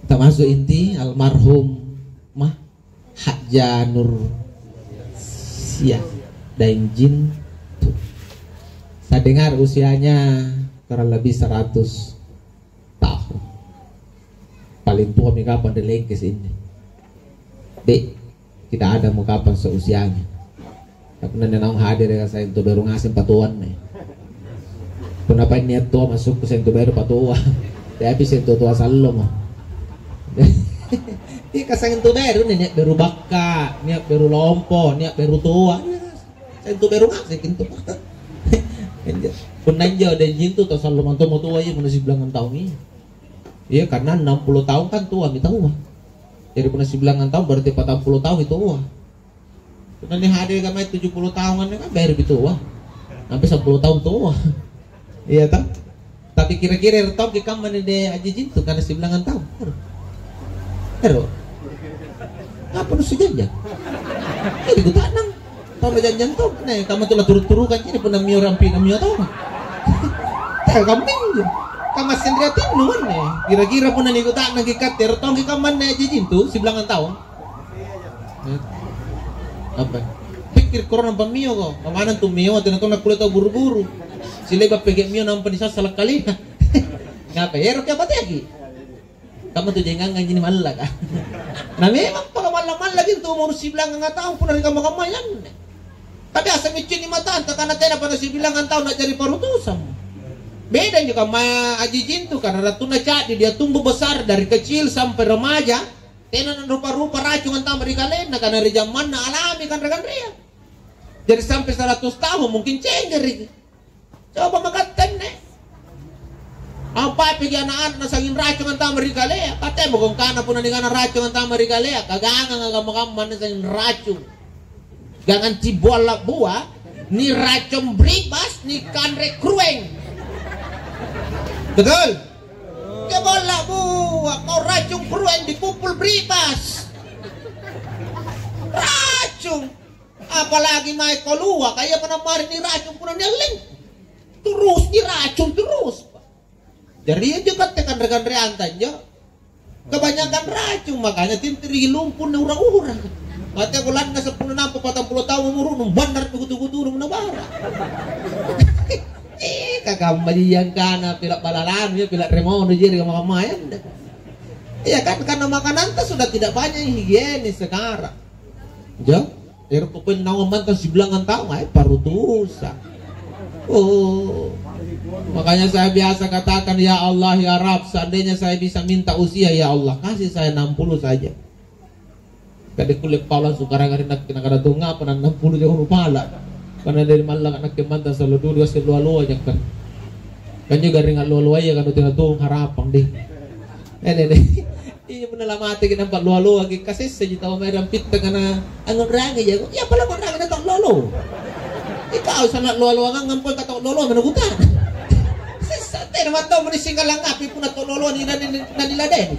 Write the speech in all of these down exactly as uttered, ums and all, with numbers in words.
Termasuk inti almarhum mah Hajja Nur Sia Daeng Jintu. Saya dengar usianya kurang lebih seratus tahun. Paling tua mi kapang ri Lengkes ini. Dek, tidak ada mau kapang seusianya. Tapi punna naung hadir ya, saya itu baru ngasih patuan nih. Punna paeng nia' toa masukku, saya itu baru patoa. Tapi saya itu toa sallo mo. Iya, kasang itu baru nih, nia' baru bakka, nia' baru lompo, nia' baru toa. Saya itu baru ngasih itu. Punna injo ada jintu toa sallo mantu mo toa, iya, punna sibilangang tahun iya. Iya, karena enam puluh tahun kan tua mi taua. Jadi punna sibilangang tahun berarti patang puluh tahun itu tua. Punna nia' hadir kamai tujuh puluh tahun kan, kan baru itu tua. Sampai sepuluh tahun tua. Iya toh? Tapi kira-kira ero' tongki kamma nih deh Haji Jintu karena sibilangang tahun. Ero'. Ero'. Apa nu sijanjang? Jadi kuta'nang. Tau majanjang tau. Nih, kamma tu la turu-turukan jadi punna mio rampi na mio tau. Tau kamming. Kamma sendiri atinnu manne. Kira-kira punna nikuta'nang ki katte ero' tongki kamma nih Haji Jintu sibilangang tahun. Apa? Pikir korona nampa mio ko. Pamanang tu mio, tena tona kulle tau buru-buru. Sileba pege mio nampa nisassala kalina. Ngapa? Ero' ke apa teki? Kamu tu jangangang ini mallaka. Nah, memang pala malla-malla gitu umur sibilangang tahun punna ri kamma-kammaya anne. Tapi asa miccinni matanta karena tena pada sibilangang tahun na'jari parutusan. Beda injo kamma Haji Jintu karena rattunna ca'di dia tumbuh besar dari kecil sampai remaja. Tena narupa-rupa racung antama ri kalenna, karena ri jammanna alami kanre-kanrea. Jadi sampai seratus tahun mungkin cenggeriki. Coba makattenne. Apa pigi anak-anak nasanging racung antama ri kalea? Katemo kong kana punna ningana racung antama ri kalea, kagangang kamma-kamma nasanging racung. Gangang cibolla bua, ni racung bribas, ni kanre krueng. Betul? Cibolla bua, kau racung krueng dipupul bribas. Racung. Apalagi mae kolua, kaya mana mari ni racung punna nialleng. Terus ni racung terus. Jari injo katte kanre-kanreanta injo. Kebanyakan racung, makanya tintiri lumpunna ura-ura. Mate aku lanna sepuluh nampa patang puluh tahun umurunu, bannar kutu-kutu nabara. Eh, kakamma jiyangkana pila balalanu ya, pila remono jeri kamma-kammaya. Iya kan, karena makananta sudah tidak banyak yang higienis sekarang. Jo, ero' pokoknya naung mantang sibilangang tahun, eh, parutusa. Oh. Makanya saya biasa katakan, "Ya Allah, ya Rabb, seandainya saya bisa minta usia, ya Allah, kasih saya enam puluh saja." Kade kulle pala sukarang ri nakke, nakana tu ngapa na enam puluh jong pala. Karena dari mallaka nakke mantang sallo dulu, gasse loa-loa jakkan. Kan juga ring loa-loa ya kan, tena tu harapang deh. Eh, deh, deh. Iya, punna lamateki nampa loa-loaki, kasessaji tau mae rampitta kana angngonrangi jako. Iya, pala angngonrangi na tau lolo. Ikau sana loa-loangang pole ka tau lolo mena kutana. Sessa tena mantau meni singgalangapi punna tau lolo ni, na, na, na niladeni.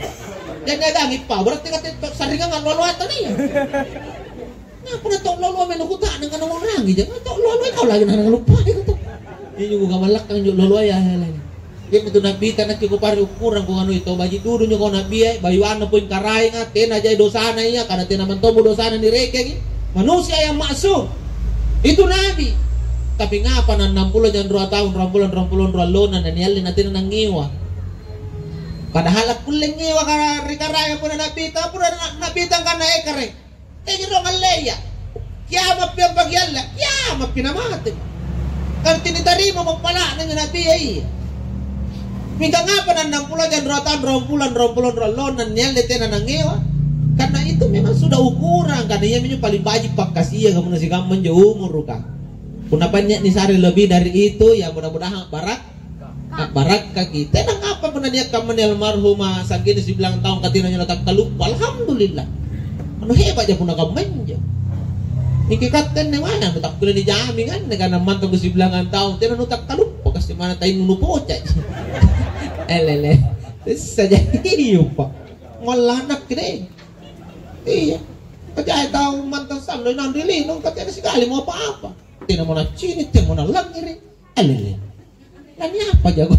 Jadi agangi pa, berarti kata tau sarringang lolo atau nih. Nah, punna tau lolo mena kutana kana angngonrangi jako. Tau lolo kau lagi na ngaluppai kata. Ini juga malakang jo lolo ya, ya, ya. Iami tu Nabbita nakke kupare ukurang, kuanui tau baji' dudu njo kau Nabbia, bayuanna poeng karaenga, tena jai dosana ia, karena tena mantommo dosana nirekengi. Manusia yang maksum. Itu Nabi. Tapi ngapa na annang pulo jang rua taung, ruang bulan, ruang pulo, ruang lona, na nialle na tena nangngewa. Padahal akkulle ngewa ka-, ri karaenga punna Nabbita, pura na-, Nabbita angkanna ekare. Teji rong alleya. Kiama'pi ampakialla, kiama'pi namate. Arti nitarima pappala'na injo Nabia iya. Mingka ngapa na annang pulo jang rua taung, ruang bulan, ruang pulo, ruang lona nialle tena nangngewa? Karena itu memang sudah ukuran, karena iaminjo paling baji' pakkasianga punna sikamma injo umuruka. Punna pannia nisare lebih dari itu, ya mudah-mudahan barak A'barakkaki. Tena ngapa punna nia' kammani almarhuma sa'genna sibilang taung, katina nyola takkaluppa. Alhamdulillah. Anu hebatja punna kamma injo. Mingka katte anne mae, anu takkulle nijaming anne, karena mantang sibilangang taung, tena nutakkaluppa, kasi mana tainnu nupocaji. Elele. Sessa jadi uppa. Ngolla anakki deh. Iya. Kajae tau mantang sallo inang ri lino, katena sikali mo apa-apa. Tena mo naccini', tena mo nalangngere'. Alele. Lani apa jago?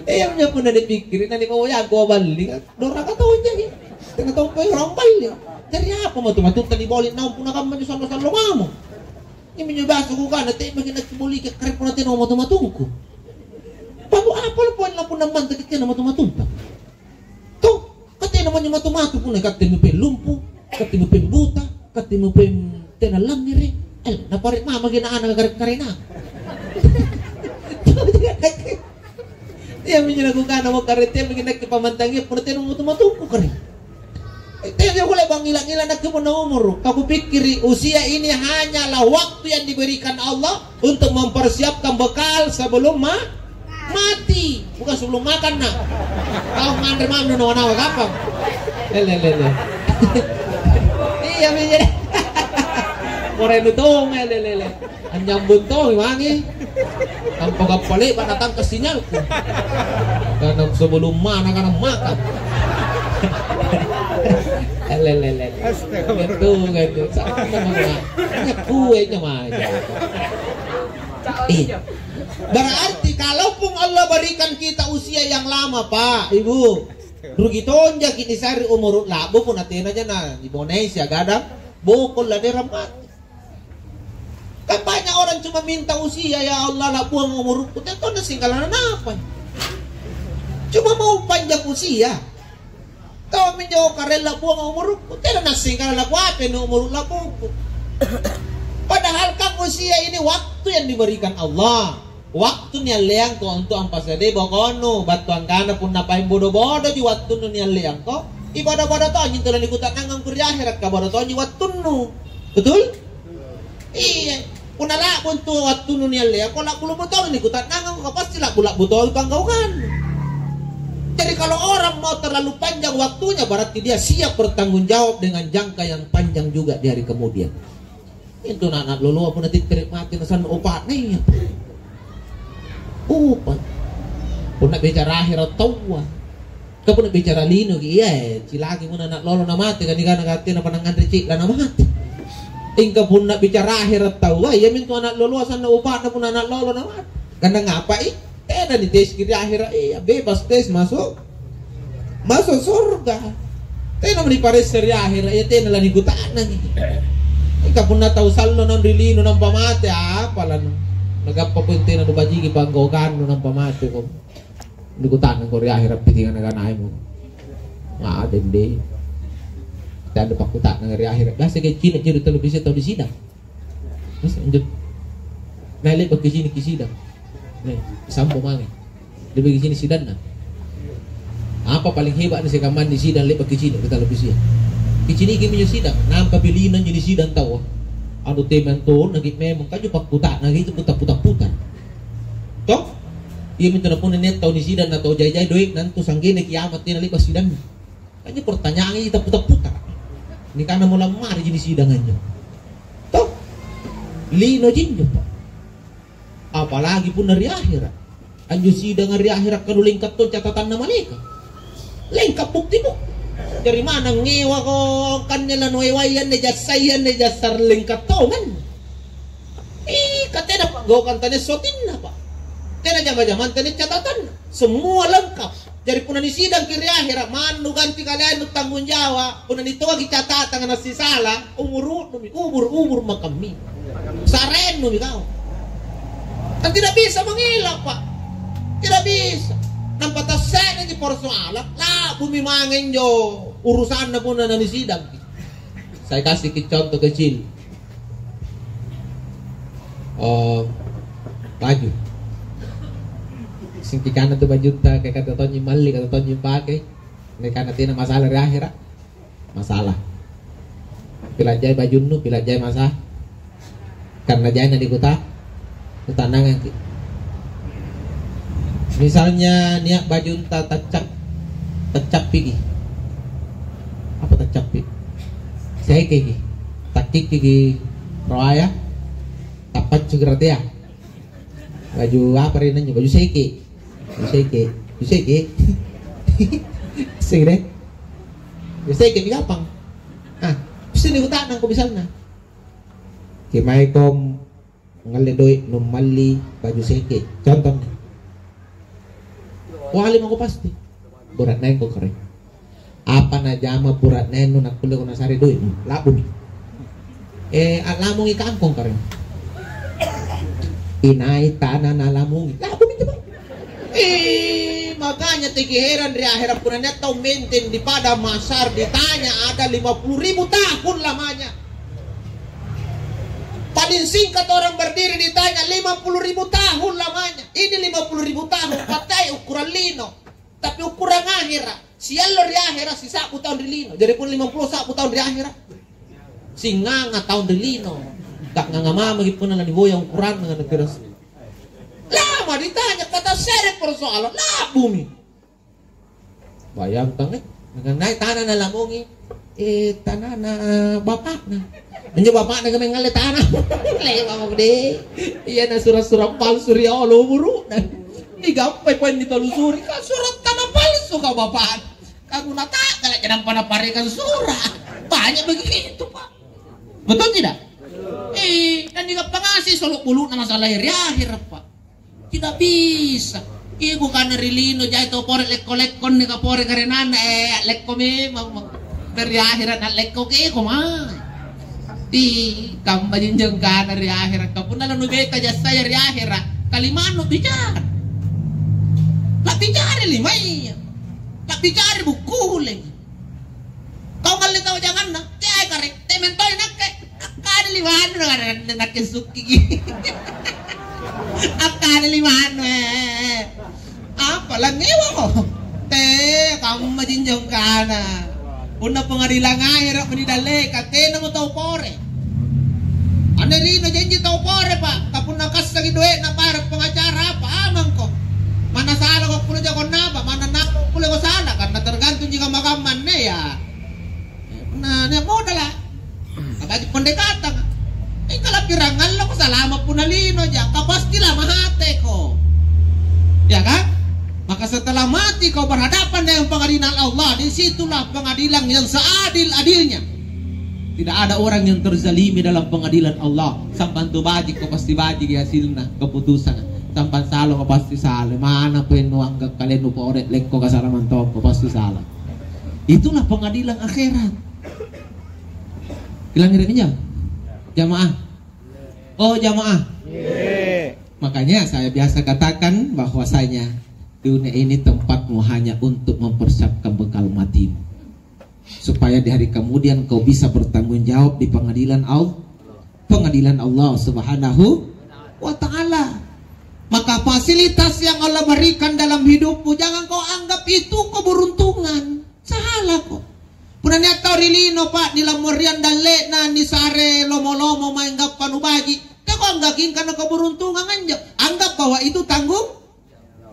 Iya, minjo punna nipikkiri, na nipaboyangko balli, kan? Doraka tonja, iya. Tena tompo orang balli. Jari apa matu-matunta niboli naung punna kamma anjo sallo-sallo mamo? Iyaminjo biasa kukana, te'maki nakiboliki kare punna tena matu-matungku. Baru apa lo poeng punna mantaki tena matu-matunta? Toh, ka tena manjo matu-matu punna katte mupeng lumpu, katte mupeng buta, katte mupeng tena langngere. Eh, napare mamaki na ana kare-karena. Iyaminjo nakukana mo kare teamaki nakke pamantangia punna tena matu-matungku kare. Eh, tena kulle bangngila-ngila nakke punna umuru. Ka kupikkiri usia ini hanyalah waktu yang diberikan Allah untuk mempersiapkan bekal sebelum ma-, mati, bukan sebelum makan, nak. Kau nganre mami nawa-nawa gampang. Lele, lele. Iya, mi jadi. Morenu tong, lele, lele. Anyambung tong, mangi. Tanpa gappale, pada tangkas sinyalku. Karena sebelum mana, karena makan. Lele, lele. Astagfirullah. Itu kan, itu. Sama, sama. Kue nyamanya. Eh, berarti kalaupun Allah berikan kita usia yang lama, Pak, Ibu, rugi tonjaki nisare umuru la'bu punna tenaja na Indonesia gadang bokol laderang mati. Kan banyak orang cuma minta usia, "Ya Allah, la'buang umurku." Tentu na singkala napa? Cuma mau panjang usia. Tomminjo karella buang umurukku, tena nassingkala lakuape ni umuru la'buku. Padahal kan usia ini waktu yang diberikan Allah. Waktu nialleangko untuk ampasadai bokonnu, battu angkana punna paeng bodo-bodoji wattunnu nialleangko, ibodo-bodo tonji tu lanikuta'nangangko ri ahera, kabodo tonji wattunnu. Betul? Iya, punna la'bu intu wattunnu nialleangko, la'bu-la'bu tong nikuta'nangangko, ka pasti la'bu-la'bu tong panggaukannu. Jadi kalau orang mau terlalu panjang waktunya, berarti dia siap bertanggung jawab dengan jangka yang panjang juga di hari kemudian. Intu na-, na loloa punna tittere mati nasanna upa'na iya. Upa. Punna bicara ahera taua. Ka punna bicara linoki, iya, eh, cilaki punna ana' lolo namate, ka nikana ka tena pa nangnganre ci'la namate. Ingka punna bicara ahera taua, iyamintu ana' loloa sanna upa'na punna ana' lolo namate. Karena ngapai? Tena niteski ri ahera, iya, bebas tes masuk, masuk surga. Tena niparessa ri ahera, iya, tena lanikuta'nangi. Ingka punna tau sallo naung ri lino nampa mate, apa lanu? Nagappa pun tena nubajiki panggaukannu nampa mate ko. Nikuta'nangko ri ahera pitinga naganaimu. Ngadeng deh. Tanda pakkuta'nang ri ahera. Biasa kayak cina jadi televisi tau di sidang. Terus lanjut. Nah, le'baki ciniki sidang. Nih, sampo mange. Le'baki cini sidanna. Apa paling hebat nih sekamang di sidang le'baki cini ri televisi? Kiciniki minjo sidang. Nampa pilihna jadi sidang tau. Anu teman tuh, nagi memang kaju pakkuta'nang itu putar-putar-putar. Toh? Iya mintu na punna nia' tau nisidang na tau jai-jai doe'na antu sanggena kiamat tena le'ba' sidanna. Kan injo pertanyaan itu putar-putar. Nikana mo lammari ji nisidang anjo. Toh? Lino ji injo, Pak. Apalagi punna ri ahera. Anjo sidanga ri ahera kanu lengka' to catatanna malaeka'. Lengka' bukti-bukti. Jari manna ngewako kanne lanuewai anne jassai anne jasa lengka' tonganne. Ih, ka tena pa'gaukang tania sotinna, Pak. Tena jama-jamang tania catatanna. Semua lengkap. Jari punna nisidangki ri ahera, mannu ganti kaleainu tanggung jawab. Punna nitoaki catatanga nasisala, umuru'numi, ubur-ubur makammi. Sarennumi kau. Kan tidak bisa mengelak, Pak. Tidak bisa. Nampa tasse'reji persoalan, la'bumi mange injo urusanna punna nanisidangki. Saya kasih ki contoh kecil. Oh, baju. Singkikana tu bajutta, kayak kata tonji malli, kata tonji pake. Ini karena tina masalah di akhirat. Masalah. Pilajai bajunnu, pilajai masa. Karena jaina di kota, kuta'nangangki. Misalnya niat bajunta taccap-, taccappiki. Apa taccappi? Sekeki. Takkikkiki roaya. Tappaccuki ratea. Baju apa ri nanya? Baju seke. Baju seke. Baju seke. Seke deh. Baju seke mi gampang. Ah, sini kuta'nangko misalnya. Kemae kom ngalle doe' nummalli baju seke. Contohnya. Wali mako pasti. Bura'nengko kare. Apa najama bura'nennu nakkulleko nasare doe'mu? La'bumi. Eh, a'lamungi kangkong kare. Inai tana nalamungi? La'bumi coba. Eh, makanya teki heran ri ahera punna nia' tau menteng di Padang Mahsyar ditanya ada lima puluh ribu tahun lamanya. Paling singkat orang berdiri ditanya lima puluh ribu tahun lamanya. Ini lima puluh ribu tahun, patai ukuran lino. Tapi ukuran ahera, siallo ri ahera, sisa'bu taung ri lino. Jari pun lima puluh sa'bu taung ri ahera. Singanga taung ri lino. Ta'nganga mamaki punna laniboya ukuranna, nakira. Lama ditanya, kata sere persoalan, la'bumi. Bayangkang, eh, nakanai tana nalamungi, eh, tanana bapakna. Injo bapakna kami ngalle tana. Lewa mako deh. Iya na sura-sura palsu ri olo umuru'na. Digappai poeng nitelusuri, ka surat tana palsu ka bapak. Ka guna ta'gala ja nampa naparekang surat. Banyak begitu, Pak. Betul tidak? Eh, dan digappa ngasih solok bulu'na masalah ri akhir, Pak. Tidak bisa. Iya, kukana ri lino, jai tau pore lekko-lekko inni kapore karenana, eh, lekko memang. Dari akhirat na lekko keko mai. Di kamma jinjeng kana ri akhirat. Kapunna lanu beta jassaya ri akhirat. Kalimannu bicara. La bicara limaya. La bicara bukkule. Kau ngalle tau janganna, teai kare, te mentoi nakke. Akkana limannu, nakke sukkiki. Akkana limannu, eh. Apa, langngewako? Te, kamma jinjo kana. Punna pengadilang ahera' meni dalleka, tenamo tau pore. Anne rino janji tau pore, Pak. Kapunna kassaki doe'na bayara pengacara apa, amangko. Manna salako kulle jako napa, manna napa kulle ko sala, karena tergantung jika makamma anne ya. Nah, nia' modala'. Nabaji' pendekatanga. Mingka lapirang alloko salama' punna linoja, ka pasti lamahateko. Ya kan? Maka setelah mati kau berhadapan dengan pengadilan Allah, di situlah pengadilan yang seadil-adilnya. Tidak ada orang yang terzalimi dalam pengadilan Allah. Sampang tu baji' kau pasti baji' hasilna keputusan. Sampang salo kau pasti sale. Mana pun nuanggap kalian nu pore lekko kasalaman toko pasti salah. Itulah pengadilan akhirat. Bilang ngere'mi, jamaah. Oh, jamaah. Makanya saya biasa katakan bahwasanya dunia ini tempatmu hanya untuk mempersiapkan bekal matimu. Supaya di hari kemudian kau bisa bertanggung jawab di pengadilan Allah, pengadilan Allah Subhanahu wa Ta'ala. Maka fasilitas yang Allah berikan dalam hidupmu, jangan kau anggap itu keberuntungan. Salah kok. Punna nia' tau ri lino, Pak, nilammoriang dalle'na, nisare lomo-lomo mae anggappa nubaji'. Teko anggaki angkana keberuntungan anjo. Anggap bahwa itu tanggung,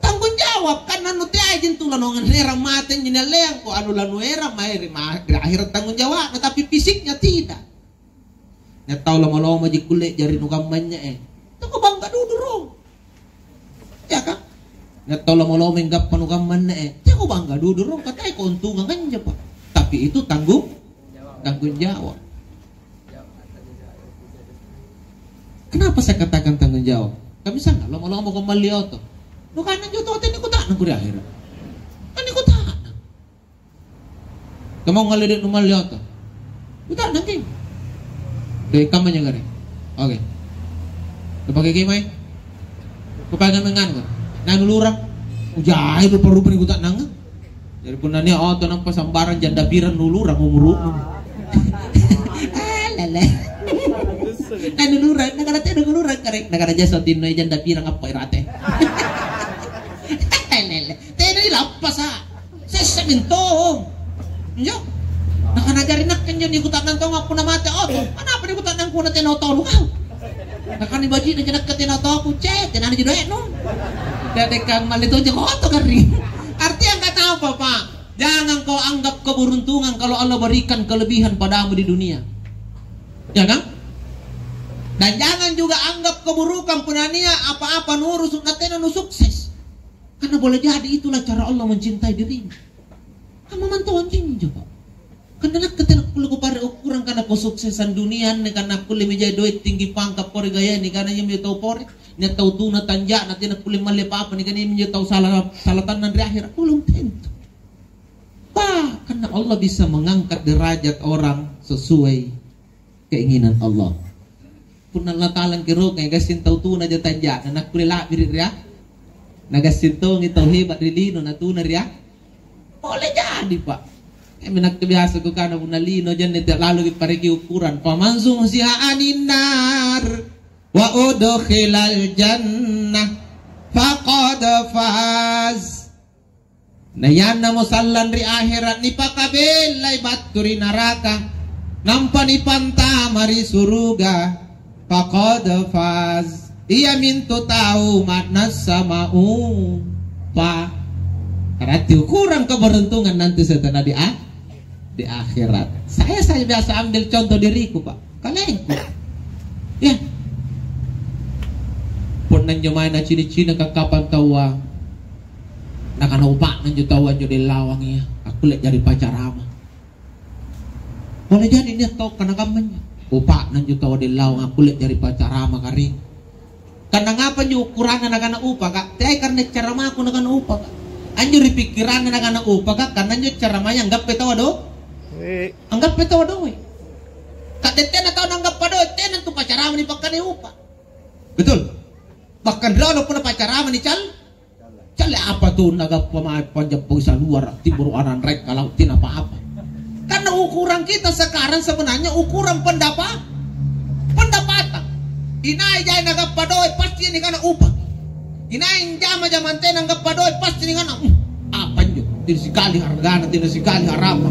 tanggung jawab. Kan anu teaiji intu lanaung erang mate anjo nialleangko, anu lanuerang mae ri ma-, ri akhera tanggung jawabna, tapi fisiknya tidak. Nia' tau lomo-lomoji kulle jari nukamma anne, eh. Teko bangga dudu rong. Ya kan? Nia' tau lomo-lomo anggappa nukamma anne, eh. Teko bangga dudu rong, katai keuntungan anjo, Pak. Tapi itu tanggung, tanggung jawab. Kenapa saya katakan tanggung jawab? Kami sana lomo-lomo ko malli oto. Nukana anjo oto tena kuta'nang ko ri akhera. Tena kuta'nang. Kamma ngalle de' numalli oto. Kuta'nangki. Deh, kamma nyagare. Oke. Kupake kemai. Kupake nganu. Nah, nulurang. Ujai rupa-rupa ni kuta'nang. Jadi punna nia' oto nampa sambarang janda pirang nulurang umuru'nu. Ah, lele. Nah, nulurang, nakana tena nulurang kare. Nakana jasa tinno janda pirang apa irate. Lele. Tena ilappasa. Sessa mintong. Injo. Nakana jari nakke injo nikuta'nang tonga punna mate oto. Anapa nikuta'nang punna tena otoru kau? Nakana baji'na ja nakke tena otoku, ce, tenana ji doe'nu. Dadekang malli tonja oto garring. Artinya nggak apa, Pak. Jangan kau anggap keberuntungan kalau Allah berikan kelebihan padamu di dunia. Ya kan? Dan jangan juga anggap keburukan punna nia' apa-apa nurusu' na tena nusukses. Karena boleh jadi itulah cara Allah mencintai dirimu. Kamma mantoang jinjo, Pak. Karena nakke tena kulle kupare ukurang karena kesuksesan dunia anne, karena kulle mijai doe' tinggi pangkat pore gayani, karena iami tau pore. Nia' tau tuna tanja'na tena kulle malli apa-apa, nikana minjo tau sala, sala tannang ri ahera'. Belum tentu. Bahkan Allah bisa mengangkat derajat orang sesuai keinginan Allah. Punna Allah Ta'ala angkerokai, gassing tau tuna ja tanja'na, nakkulle la'biri' ri a-, nagassing tongi tau heba' ri lino natuna ri a-, Pole jadi, Pak. Eh, minakka biasa kukana punna lino janne te lalu kipareki ukuran. Faman zuhziha anin nar wa udkhilal jannah faqad faz. Na yannamo sallang ri ahera' nipakabellai battu ri naraka, nampa nipantama ri suruga, faqad faz. Iamintu tau ma'nassa maupa. Berarti ukurang keberuntungan nanti setelah di a-, di akhirat. Saya, saya biasa ambil contoh diriku, Pak. Kalengku. Ya. Punna injo mae nacini'-cini' kakkapang taua, nakana upa'na injo taua injo dellawang iya, akkulle jari pacarama. Pole jadi nia' tau kana kamma injo. Upa'na injo tau dellawang akkulle jari pacarama karing. Karena ngapa injo ukuranna nakana upaka? Teai karena caramaku nakana upaka. Anjo ri pikkiranna nakana upaka, karena injo caramaya anggappai tau do-, Eh. anggappai tau doe'. Ka tena tau nanggappa doe', tena tu pacarama nipakkana upa. Betul? Bahkan riolo punna pacarama nical-, Calle apa tu nagappa mae panjappo saluara, timboro' ananrek kalau tina apa-apa. Karena ukuran kita sekarang sebenarnya ukuran pendapa-, pendapatan. Inai jai nagappa doe' pasti nikana upaki. Inai jama-jamang tena nagappa doe' pasti nikana, "Hmm, apa injo? Tina sikali hargana, tina sikali harapa.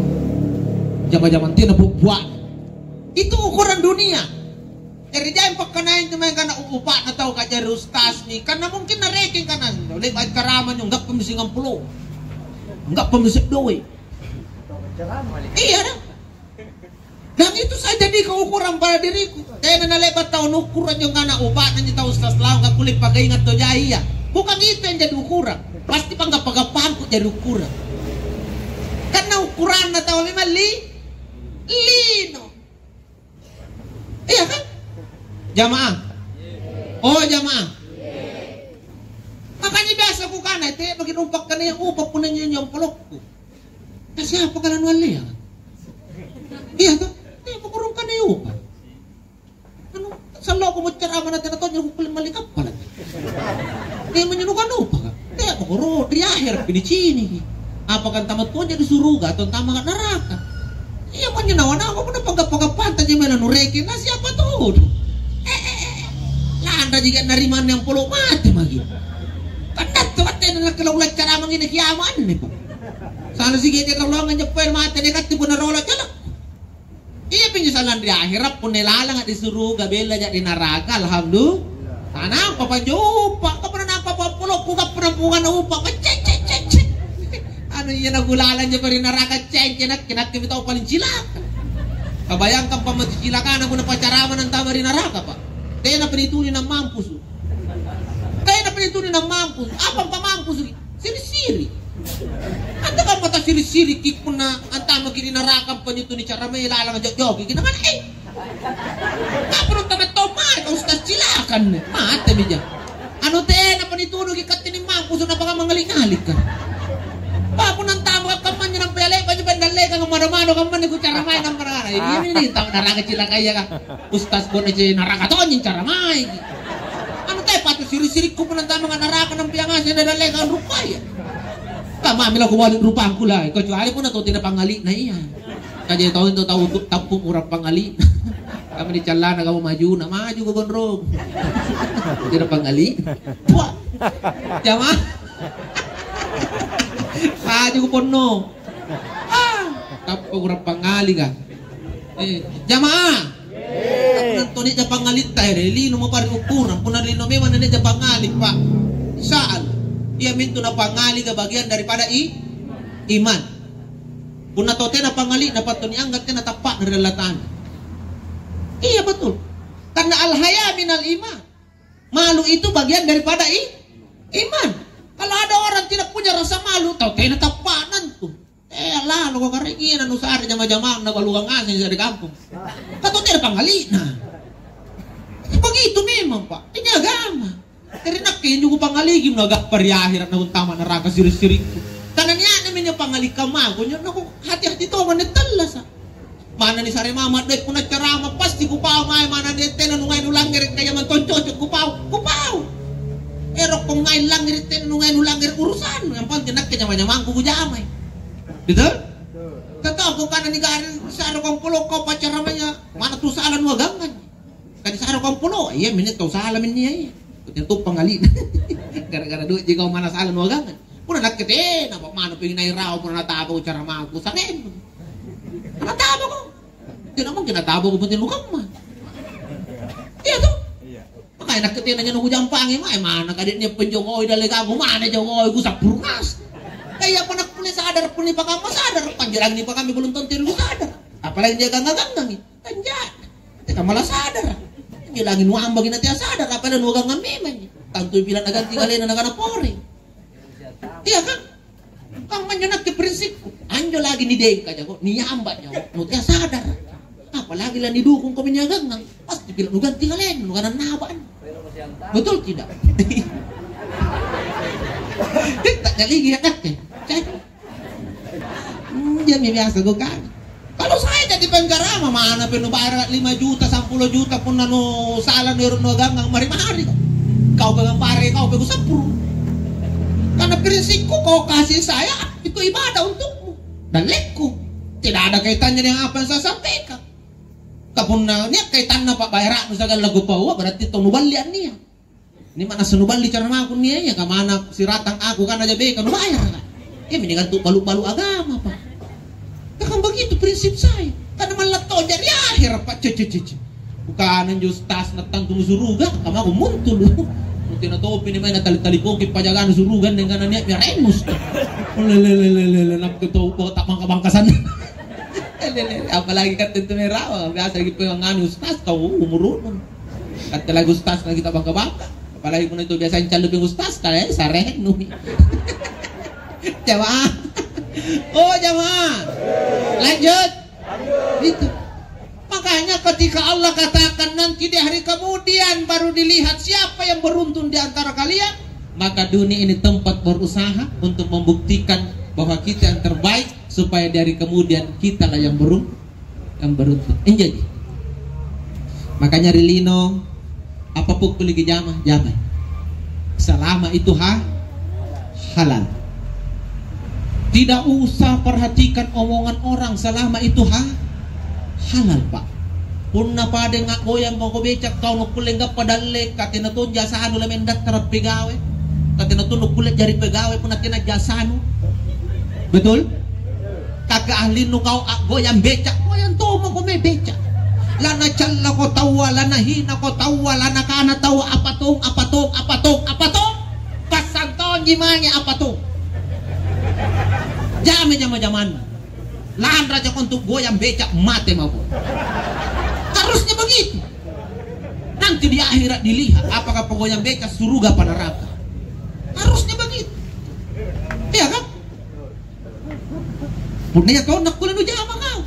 Jama-jamang tena bua-buana." Itu ukuran dunia. Jari jai pakkanaing tu mae kana u-, upa'na tau kajari ustasmi, karena mungkin narekeng kana, "Le'ba' ceramah njo, anggappa mi singampulo. Anggappa mi seddoi." Iya, dah. Dan itu saya jadikan ukuran pada diriku. Tena nale'ba' tau nukkuru' anjo kana upa'na anjo tau ustas laung, akkulle pagainga to jai iya. Bukan itu yang jadi ukuran. Pasti panggappa-gappangku jadi ukuran. Karena ukuranna tau memang li-, lino. Iya kan? Jamaah. Oh, jamaah. Makanya biasa kukana, "Te, bagi numpak kana yang upah punna nyanyi polokku." Nah, siapa kalau nuallea? Iya toh? Te, pakurung kana yang upah. Anu, sallo aku mau ceramah nanti nonton yang kukulit mali kapal. Te, menyenukan upah. Te, pakuru, di akhir, pinicini. Apa kan tamat tuanya di suruga atau tamat neraka? Iya, manya nawa-nawa, punna pagga-pagga panta je mela nureke, na siapa tuh? Eh, eh, eh. Lanra jika narimanne yang polo mate magi. Kan dattu katte na kala ulang cara mangine kiamat anne, Pak. Sana sige dia kalau nganjepper mate ne katte punna rola jalak. Iya pinjo sallang ri akhera, punna lalanga di suruga, bella ja di naraka, alhamdulillah. Tanampa panjo upa, kapunna nampa pappulokku, kapunna punganna upa, cek, cek, cek, cek. Anu iya nagulalang japa ri naraka, cek, cek, nakke, nakke mi tau paling cilaka. Kabayangkan pammatu cilakana punna pacarama nantama ri naraka, Pak. Tenapa nituli nammampusu. Tenapa nituli nammampusu. Apa pamampusu? Siri-siri. Anta kamma tasiri-siriki punna antamaki ri naraka, panjo tu nicaramai lalang jok-joki. Kinamana, eh? Apa rung tama tau mate, Ustaz, silakan. Mate mija. Anu tenapa nituduki katte ni mampu, sunnapa mangngali-ngalika. Apa punna antama kamma anjo nampa yallepa anjo pandallekang mado-mado kamma anne kucaramai nampa nakana, "Ini nih tau naraka cilakaya ka. Ustaz Bona je naraka tonji caramaiki." Anu te patu siri-sirikku punna antama naraka nampa yang ngaseng nadallekang rupaya. Kamma mila kubalik rupangku lai, kecuali punna tau tena pangngali'na iya. Kaje tau itu tau tu-, tappu urang pangali. Kami di callana kamu maju, na maju ke gondrong. Tidak pangali. Wah. Jama. Maju ke ponno. Ah, tappu urang pangali ka. Eh, jamaah. Punna tau nia' ja pangngalitta ere, lino mo pari ukurang. Punna lino memang nia' ja pangngali, Pak. Sa'al. Iamintu napangngalika bagian daripada i-, iman. Punna tau tena pangngali'na, pattu nianggap tena tappa'na ri Allata'ala. Iya, betul. Karena al-haya minal iman. Malu itu bagian daripada i-, iman. Kalau ada orang tidak punya rasa malu, tau tena tappa'na antu. Eh, laloko karaeng iya nanusare jama-jamang nabalukang ngaseng ri kampong. Ka tau tena pangngali'na. Begitu memang, Pak. Ini agama. Jari nakke injo kupangaliki nagappa ri ahera' nauntama naraka siri'-siri'ku. Karena nia'nami injo pangalikang mako injo naku hati-hati tonga anne tallasa'. Mana nisare mama doe' punna carama pasti kupau mae mana de' tena nungai nulangngere' kaya mantong cocok kupau, kupau. Erokko ngai langngere' tena nungai nulangngere' urusannu, yang penting nakke nyama-nyamangku kujamai. Betul? Tetap kukana nigarring sare kompolo kau pacaramanya mana tu sala nuagangangi. Tadi sare kompolo, iya minne tau sala minnia iya. Kucintupang alina. Gara-gara duit ji kau mana sala nuagangan. Punna nakke tena, apa mana pengen nai rawa punna nataba ku caramaku, sarennu. Nataba ko. Tena mungkin nataba ko penting lukamma. Iya toh? Makanya nakke tena nyanu kujampangi mae mana kade' nia penjongoi dallegaku mana jongoi ku sappuru' ngas. Kaya apa nakkulle sadar pun nipakamma sadar, panjalangi nipakamma belum tentu sadar. Apalagi dia gangga-ganggangi. Kan jaga. Teka malah sadar. Bilangi nuambaki na tea sadar, apalagi nuagangang memang. Tantu bilang naganti kalena nakana pore. Iya kan? Kang manjo nakke prinsipku. Anjo lagi nidengka jako, niamba jako, nu tea sadar. Apalagi la nidukung ko minyagangang, pasti bilang nuganti kalena, nukana nabaan. Betul tidak? Kita jadi ya nakke. Injomi biasa kukana. Kalau saya jadi penggarama, mana pe nubayara lima juta, sampulo juta, punna nu sala nu ero' nuagangang mari-mari. Kau pegang pare, kau pegang sepuluh. Karena prinsipku, kau kasih saya, itu ibadah untukmu. Dan lekku. Tidak ada kaitannya dengan apa yang saya sampaikan. Kapunna nia' kaitanna pa'bayara'nu sagala kupaua, berarti tau nuballi annia. Ini mana senuballi cara maku nia, ya kamana siratang aku kan aja beka nubayar kan. Ya mending kan tu balu-balu agama, Pak. Ya kan begitu prinsip saya. Karena malah tau jari akhir, Pak. Cece cece. Bukan anjo ustaz na tantu suruga, kamaku muntul. Mungkin atau ini main tali-tali poki pajagaan suruga dengan niat biar emus. Lele lele lele nak tu tak bangka-bangkasan. Lele, apalagi kan tentu merawa, biasa gitu yang nganu ustaz kau umur Katte lagi ustaz lagi tabangka-bangka. Apalagi punna itu biasa yang calupin ustaz, kale sarennu. Jamaah. Oh, jamaah. Lanjut. Itu. Makanya ketika Allah katakan nanti di hari kemudian baru dilihat siapa yang beruntung di antara kalian, maka dunia ini tempat berusaha untuk membuktikan bahwa kita yang terbaik supaya di hari kemudian kitalah yang beruntung. Yang beruntung. Injo ji. Makanya ri lino, apapun kulle kijama, jamai. Selama itu ha-, halal. Tidak usah perhatikan omongan orang selama itu ha-, halal, Pak. Punna pada ngakgoyang mako becak kau nukkulle gappa dalle, katena tonja sanu lamen dattara pegawe. Katena tunu kulle jari pegawe punna tena jasanu. Betul? Kaka ahlinnu kau a'goyang beca, goyang tomako mae beca. Lana callako taua, lana hinako taua, lana kana taua apa tong, apa tong, apa tong, apa tong. Passang tonji mange apa tong. Jame jama-jamanna. Lanra jako untuk goyang beca, mate mako. Harusnya begitu. Nanti di akhirat dilihat apakah penggoyang beca surga apa neraka. Harusnya begitu. Iya kan? Punna iya kau nakkulle nujama kau.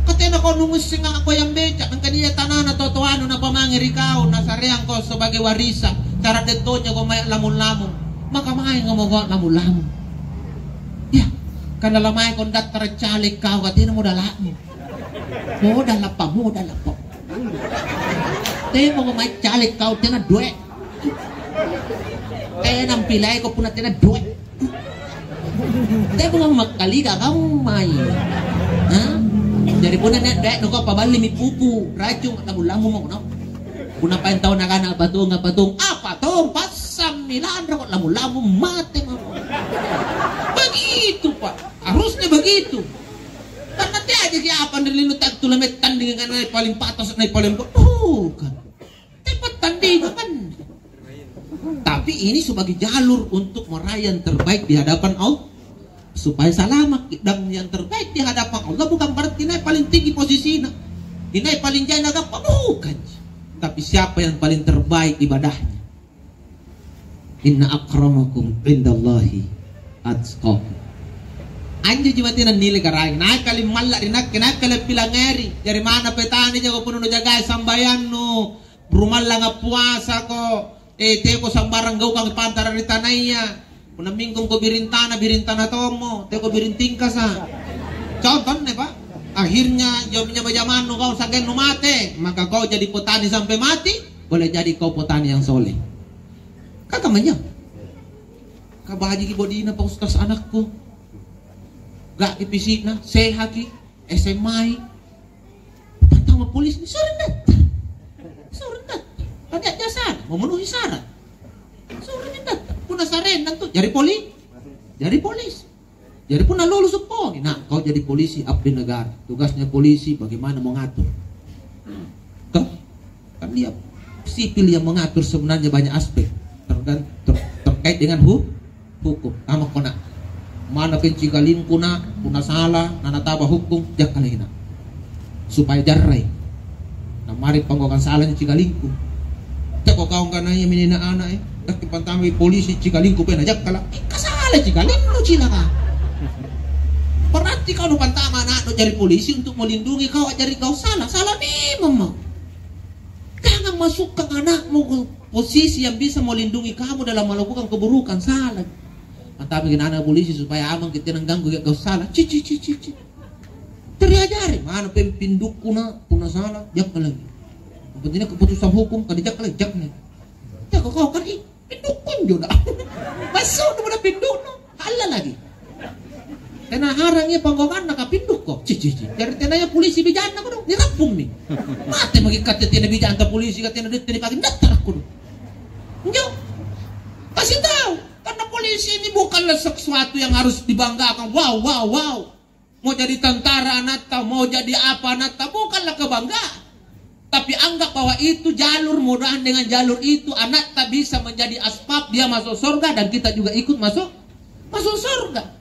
Katena kau nungussing a'goyang beca, angkana iya tanana totoanu napamange ri kau, nasareang kau sebagai warisan. Cara dettonya kau mae lamung-lamung. Maka maenga mako lamung-lamung. Ya, karena lamae kau dattara caleg kau katena modalakmu. Modal apa? Modal apa? Temo ko mai caleg kau tena doe. Tena mpilai ko punna tena doe. Temo ko makkaliga kau mai. Ha? Jadi punna nia doe no kau paballi mi pupu, racung, lamung-lamung mako no. Punna paeng tau nakana apa tong, apa tong, apa tong, passammi lanro ko lamung-lamung mate mako. Begitu, Pak. Harusnya begitu. Karena teajaki apa ri lino tattu lamettandingi nai paling patas, nai paling bukan. Tepat tandingan. Tapi ini sebagai jalur untuk meraih yang terbaik di hadapan Allah. Supaya selamat. Dan yang terbaik di hadapan Allah bukan berarti nai paling tinggi posisinya. Nai paling jai nagappa bukan. Tapi siapa yang paling terbaik ibadahnya? Inna akramakum indallahi atqakum. Anjo ji mate nannilai Karaeng. Nakkali malla ri nakke, nakkali pilangngeri. Jari mana petani jako punna nujagai sambayannu, rumallanga puasako, Eh, teko sambarang gaukang pantara ri tanaya. Punna mingkungko biring tana, biring tana tommo, teko biring tingkasa. Contohna, Pak. Akhirnya, jam-, jama-jamannu kau sa'gennu mate, maka kau jadi petani sampai mati, boleh jadi kau petani yang soleh. Kan kamma anjo. Kabajiki bodina, Pak Ustaz, anakku. Ga'ki pisikna, sehaki, S M A-i. Pantama polisi, sureng daftar. Sureng daftar. Kan nia' jasana, memenuhi syarat. Sureng daftar. Punna sarenna tu, jari poli-, jari polisi. Jadi punna lulus seppo, nah, kau jadi polisi abdi negara. Tugasnya polisi bagaimana mengatur. Toh? Kan dia sipil yang mengatur sebenarnya banyak aspek tergan-, ter-, terkait dengan hu-, hukum. Amako na. Mana kencikalingku na, punna sala, na nataba hukum, jakkalai na. Supaya jarrai. Na mari panggaukang salanya cikalingku. Teko kau angkanaya minina ana, eh. Dakki pantamai polisi cikalingku pena jakkala. Eh, kasala cikalingku cilaka. Berarti kau nu pantama anaknu jari polisi untuk melindungi kau jari kau salah. Salah memang mau. Jangan masukkan anakmu ke posisi yang bisa melindungi kamu dalam melakukan keburukan. Salah. Mantapaki anak polisi supaya aman kita nang ganggu ya kau salah. Cici cici cici. Terajari mana pempindukku na punna salah jakka lagi. Yang pentingnya keputusan hukum kan jakka lagi jakka. Teko kau kan ih pindukku njo dah. Masuk tu pada pindukku. Hala lagi. Tena harang iya panggonganna kapindukko. Cih, cih, cih. Jari tenaya polisi bijanna kodong, nirappummi. Mate maki katte tena bijanta polisi, katte na duitte nipake, dattarakko dong. Njo. Kasih tahu, karena polisi ini bukanlah sesuatu yang harus dibanggakan. Wow, wow, wow. Mau jadi tentara anatta, mau jadi apa anatta, bukanlah kebanggaan. Tapi anggap bahwa itu jalur, mudahan dengan jalur itu anatta bisa menjadi asbab dia masuk surga dan kita juga ikut masuk masuk surga.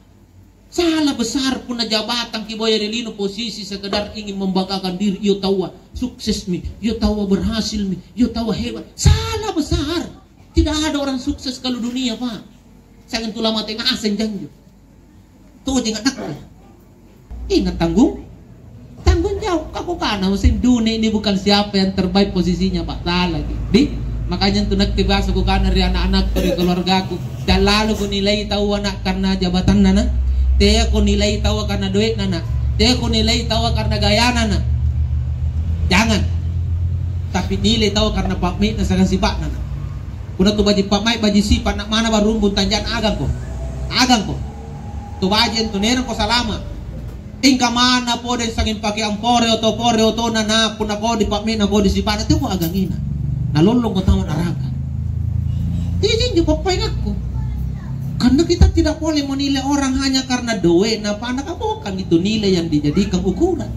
Salah besar punna jabatan kiboya ri lino posisi sekedar ingin membanggakan diri, iyo taua suksesmi, iyo taua berhasilmi, iyo taua hebat. Salah besar. Tidak ada orang sukses kalau dunia, Pak. Sanging tu lamate ngaseng janjo. Tojeng anakku. Ingat tanggung, tanggung jawab. Kakukana mesin dunia ini bukan siapa yang terbaik posisinya, Pak. Salah, di. Makanya tu nakke biasa kukana ri anak-anakku, ri keluargaku, "Jangan lalu kunilai taua, Nak, karena jabatanna, Nak. Teako nilai taua karena duitna, Nak. Teako nilai taua karena gayana, Nak. Jangan. Tapi nilai taua karena pa'mai'na siagang sipa'na, Nak." Punna tu baji' pa'mai', baji' sipa', Nak, mana barumbung tanja'na agangko. Agangko. Tu baji' antu naerangko salama'. Ingka mana pole sanging pakeang pore oto, pore otona, na punna kodi pa'mai'na, kodi sipa'na, teako agangina. Nalollongko tama naraka. Iya janjo pappaengakku. Karena kita tidak boleh menilai orang hanya karena doe'na, apa anaka, bukan itu nilai yang dijadikan ukuran.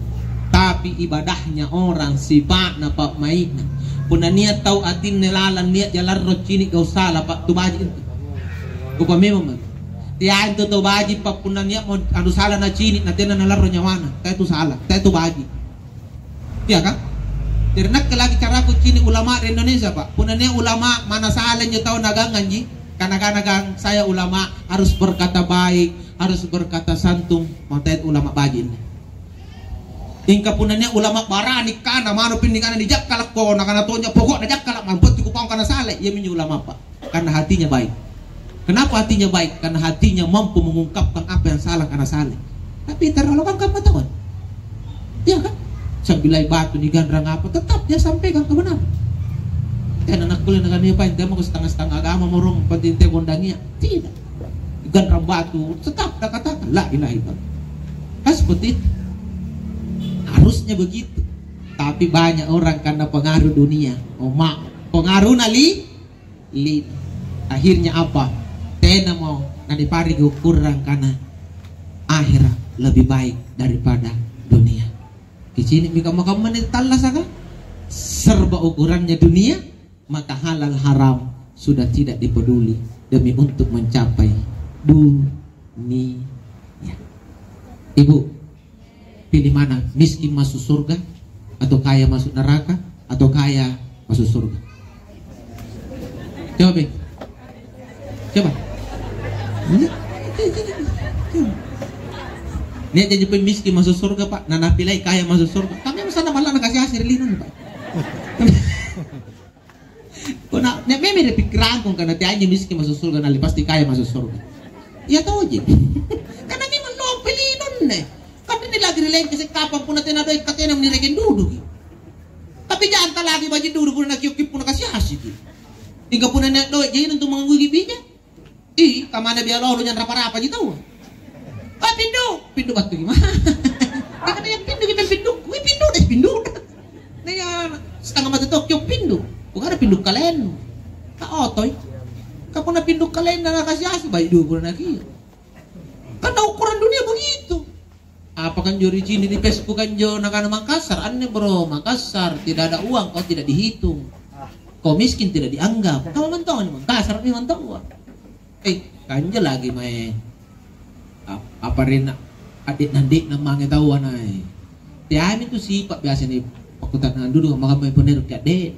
Tapi ibadahnya orang, sipa'na, pa'mai'na. Punna nia' tau atinne lalang, nia' jalarro cini' gau' sala, Pak, tu baji' itu. Kupamemang maki. Teai antu tau baji', Pak, punna nia'mo anu sala nacini', na tena nalarro nyawana. Teai tu sala, teai tu baji'. Iya, kan? Jari nakke lagi caraku cini' ulama ri Indonesia, Pak. Punna nia' ulama mana sala injo tau nagangnganji, kana-kana gang saya ulama harus berkata baik, harus berkata santun, maka teai tu ulama baji' inni. Ingka punna nia' ulama barani kana, mano pinni kana nijakkalakko, nakana tonja, pokokna jakkala', mampetti kupau kana sala, iyaminjo ulama, Pak. Karena hatinya baik. Kenapa hatinya baik? Karena hatinya mampu mengungkapkan apa yang salah karena salah. Tapi terlalu kan kamu tahu. Iya kan? Sambilai batu niganrang apa, tetap dia sampaikan kebenaran. Tena nakkulle nakana, "Iya, Pak, intemako setengah-setengah agama morong, penting te kondangia." Tidak. Ganrang batu, tetap dia katakan, "La ilaha illallah." Kan seperti itu. Harusnya begitu. Tapi banyak orang karena pengaruh dunia, oh, ma-, pengaruh nali, li-, akhirnya apa? Tenamo nanipareki ukurang karena akhirat lebih baik daripada dunia. Kicini'mi kamma-kamma anne tallasaka? Serba ukurannya dunia, maka halal haram sudah tidak dipeduli demi untuk mencapai dunia. Ibu, pilih mana? Miskin masuk surga atau kaya masuk neraka atau kaya masuk surga? Coba, Be. Coba. Nia' janji pemmiskin masuk surga, Pak. Nah, napilai kaya masuk surga. Kami sana malah nakasih hasil lino nih, Pak. Kok Nah, nia' memang ri pikkirangku angkana teaiji misking masuk surga, na pasti kaya masuk surga. Iya toji. Karena memang lompo linonne. Kan nia' lagi ri lengkese' kapang punna tena doe' ka tena nirekeng duduki. Tapi janta lagi baji' dudu punna nakiokki punna kasi-asiki. Mingka punna nia' doe' jaina untu' manggauki bija. Ih, kamana bialolo janrapa-rapaji taua. Ah, pindu, pindu battu gimana? Nakana yang pindu kita pindu, wih pindu deh pindu. Naya setengah mata tokki pindu. Bukan ada pindu kalen. Tak otoi. Kapuna pindu kalen na kasi-asi baik dulu na kia. Karena ukuran dunia begitu. Apa kanjo ri cini ri Facebook kanjo nakana Makassar, anne bro, Makassar tidak ada uang kau tidak dihitung. Kau miskin tidak dianggap. Kau mantong Makassar ni mantong uang. Eh, kanjo lagi mae. Ap-, apa rena adik nandik na mange taua nae. Teami tu sipa biasa ni pakutana dulu makamai ponero ki adik.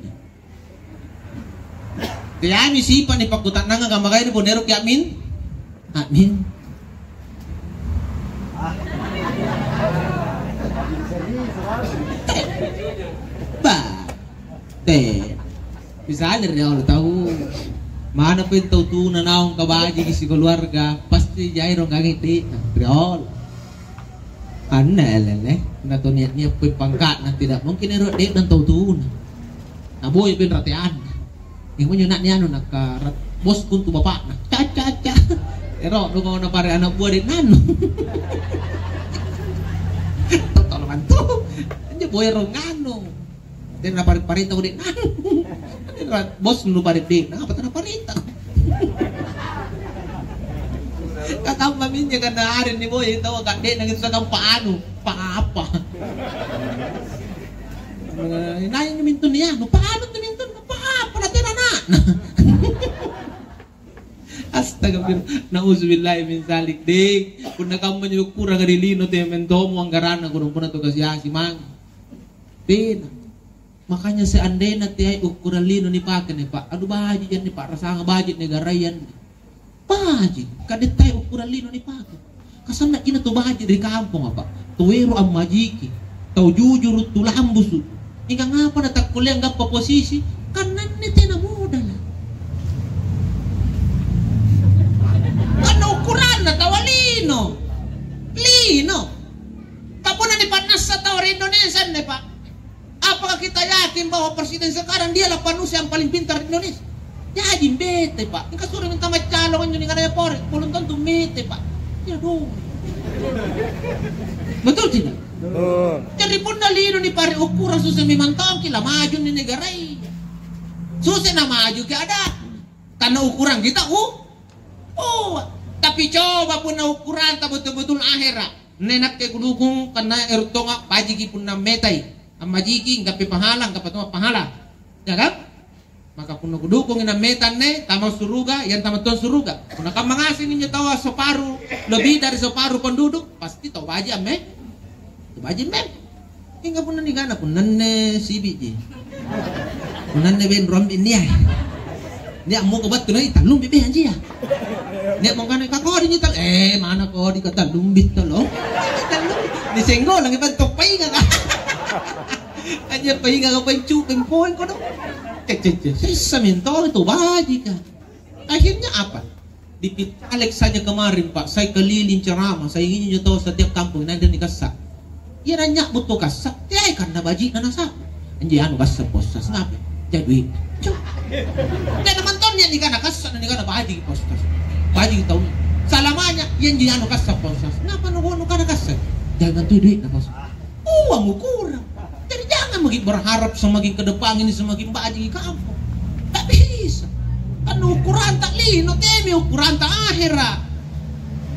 Teami sipa ni pakkuta'nanga kamma kaini boneroki a'min? A'min. Ba. Te. Misalnya ri Allah tahu. Mana pun tau tuna naung kabajiki sikeluarga, pasti jai rong gangi di ri Allah. Anne lele, na to nia'-nia' poi pangka'na, tidak mungkin ero' de'na tau tuna. Naboya peng rateanna. Injo nyo na ni anu nakka bosku untu' bapa'na. Caca-ca. Ero' dong kau napare ana' bua de'na anu. Tolong bantu. Injo boya rong anu. Tena napare-parenta kode nang. Bos nu pare de, napa tena parenta? Kakamma minjo kana are ni boya tau ka de nang itu kampa anu, pa apa? Nai mintu ni anu, pa anu tu mintu, pa apa na tena na. Astagfirullah. Nauzubillahi min zalik, dek. Punna kamma njo ukuranga ri lino te mentomo anggaranna kodong punna tu kasi-asi mange. Tena. Makanya seandainya teai ukuran lino nipake nih, Pak. Aduh, baji' janne, Pak, rasanga baji' negaraya anne. Baji', kadettai ukuran lino nipake. Kasanna cina tu baji' ri kamponga, Pak. Tu ero' ammajiki, tau jujuru, tu lambusu. Mingka ngapa natakkulle anggappa posisi? Kan anne tena modala. Kan ukuranna taua lino. Lino. Kapunna nipannassa tau ri Indonesia anne, Pak. Apakah kita yakin bahwa presiden sekarang dialah manusia yang paling pintar di Indonesia? Jaji mete, Pak. Engka suro minta maccalong anjo ni kanaya pore, belum tentu mete, Pak. Ya dong. Betul tidak? Betul. Jadi punna lino ni pare ukuran susah memang tongki lah maju ni negaraya. Susah na maju ke ada. Karena ukuran kita uh, oh, tapi coba punna ukuranta betul-betul akhirat. Nne nakke kudukung kanna ero' tonga bajiki punna metai. Ammajiki, anggappe pahala, anggappa tonga pahala. Ya kan? Maka punna kudukungi nammeta anne, tama suruga, yang tama tuang suruga. Punna kamma ngaseng injo taua separu, lebih dari separu penduduk, pasti tau baji' amme. Tau baji' amme. Hingga punna nigana, punna anne sibi'ji. Punna anne benro ambi nia. Nia' moko battu nai tallumbi beh anjia. Nia' moko kana ka kodi nyi tal-, eh, mana kodi ka tallumbi tolo. Tallumbi. Ni senggo lagi bantuk painga ka. Anjia painga ka paincu pempoeng kodo. Cek, cek, cek. Sessa mentong tu baji' ka. Akhirnya apa? Dipitalek saja kemarin, Pak. Saya keliling ceramah, saya ingin nyo tahu setiap kampung, nanti nikasa. Iya nanya butuh kasa, teai karena baji' na nasa. Anji anu kasa posas, ngapa? Jadi duit. Cuk. Dan teman-teman yang nikana kasa, dan nikana baji' posas. Baji' tahu. Salamanya, iya anji anu kasa posas. Ngapa nu nu kana kasa? Jangan tuh duit na posas. Uang ukuran. Jadi jangan maki berharap semakin ke depan ini semakin baji' kampung. Tak bisa. Kan ukuranta lino, temi ukuranta akhirat.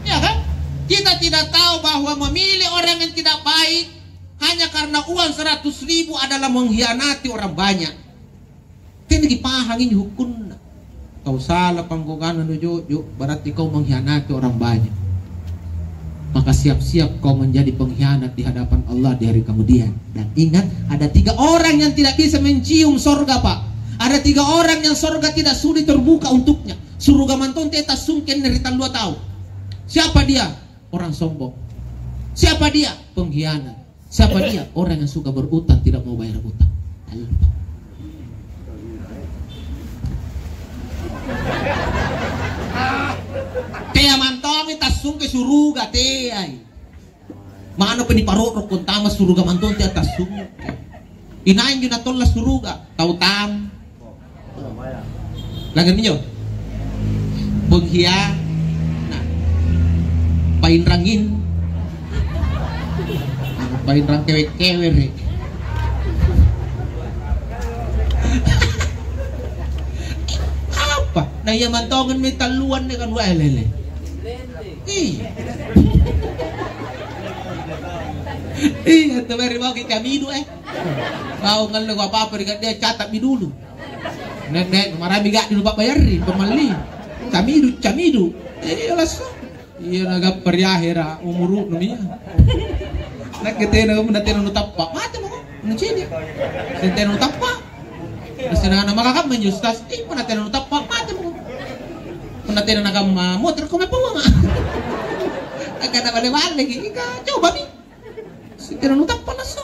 Ya kan? Kita tidak tahu bahwa memilih orang yang tidak baik hanya karena uang seratus ribu adalah mengkhianati orang banyak. Tena kipahang injo hukunna. Kau sala pangkogana nujo'jo, berarti kau mengkhianati orang banyak. Maka siap-siap kau menjadi pengkhianat di hadapan Allah di hari kemudian. Dan ingat, ada tiga orang yang tidak bisa mencium sorga, Pak. Ada tiga orang yang sorga tidak sudi terbuka untuknya. Suruga mantong teta sungken ri tallua tau. Siapa dia? Orang sombong. Siapa dia? Pengkhianat. Siapa dia? Orang yang suka berutang, tidak mau bayar utang. Ayo. Tea mantongi tassungke suruga, teai. Manapa niparo'roko antama suruga mantong tea tassungke. Inai injo natolla suruga? Tau tam. Langngerimi injo? Penghianat. Painrangin. Painrang kewe-kewere. Apa? Na ia mantongan mi talluan ne kan wae lele. Iya. Iya, tu baru mau kita midu, eh. Mau ngallo apa-apa ri dia catat mi dulu. Nek, nek, marami gak dulu Pak bayari, pemalli. Camidu, camidu. Eh, lasso. Iya, nagappa ri ahera umuru'nu iya. Nakke tena, punna tena nutappa, mate mako. Punna cini. Sentena nutappa. Nasenana maka kamma injo, Ustaz? Eh, punna tena nutappa, mate mako. Punna tena nakamma motor, kau mai pawanga. Angkana bale-baleki, ika, coba mi. Sentena nutappa lasso.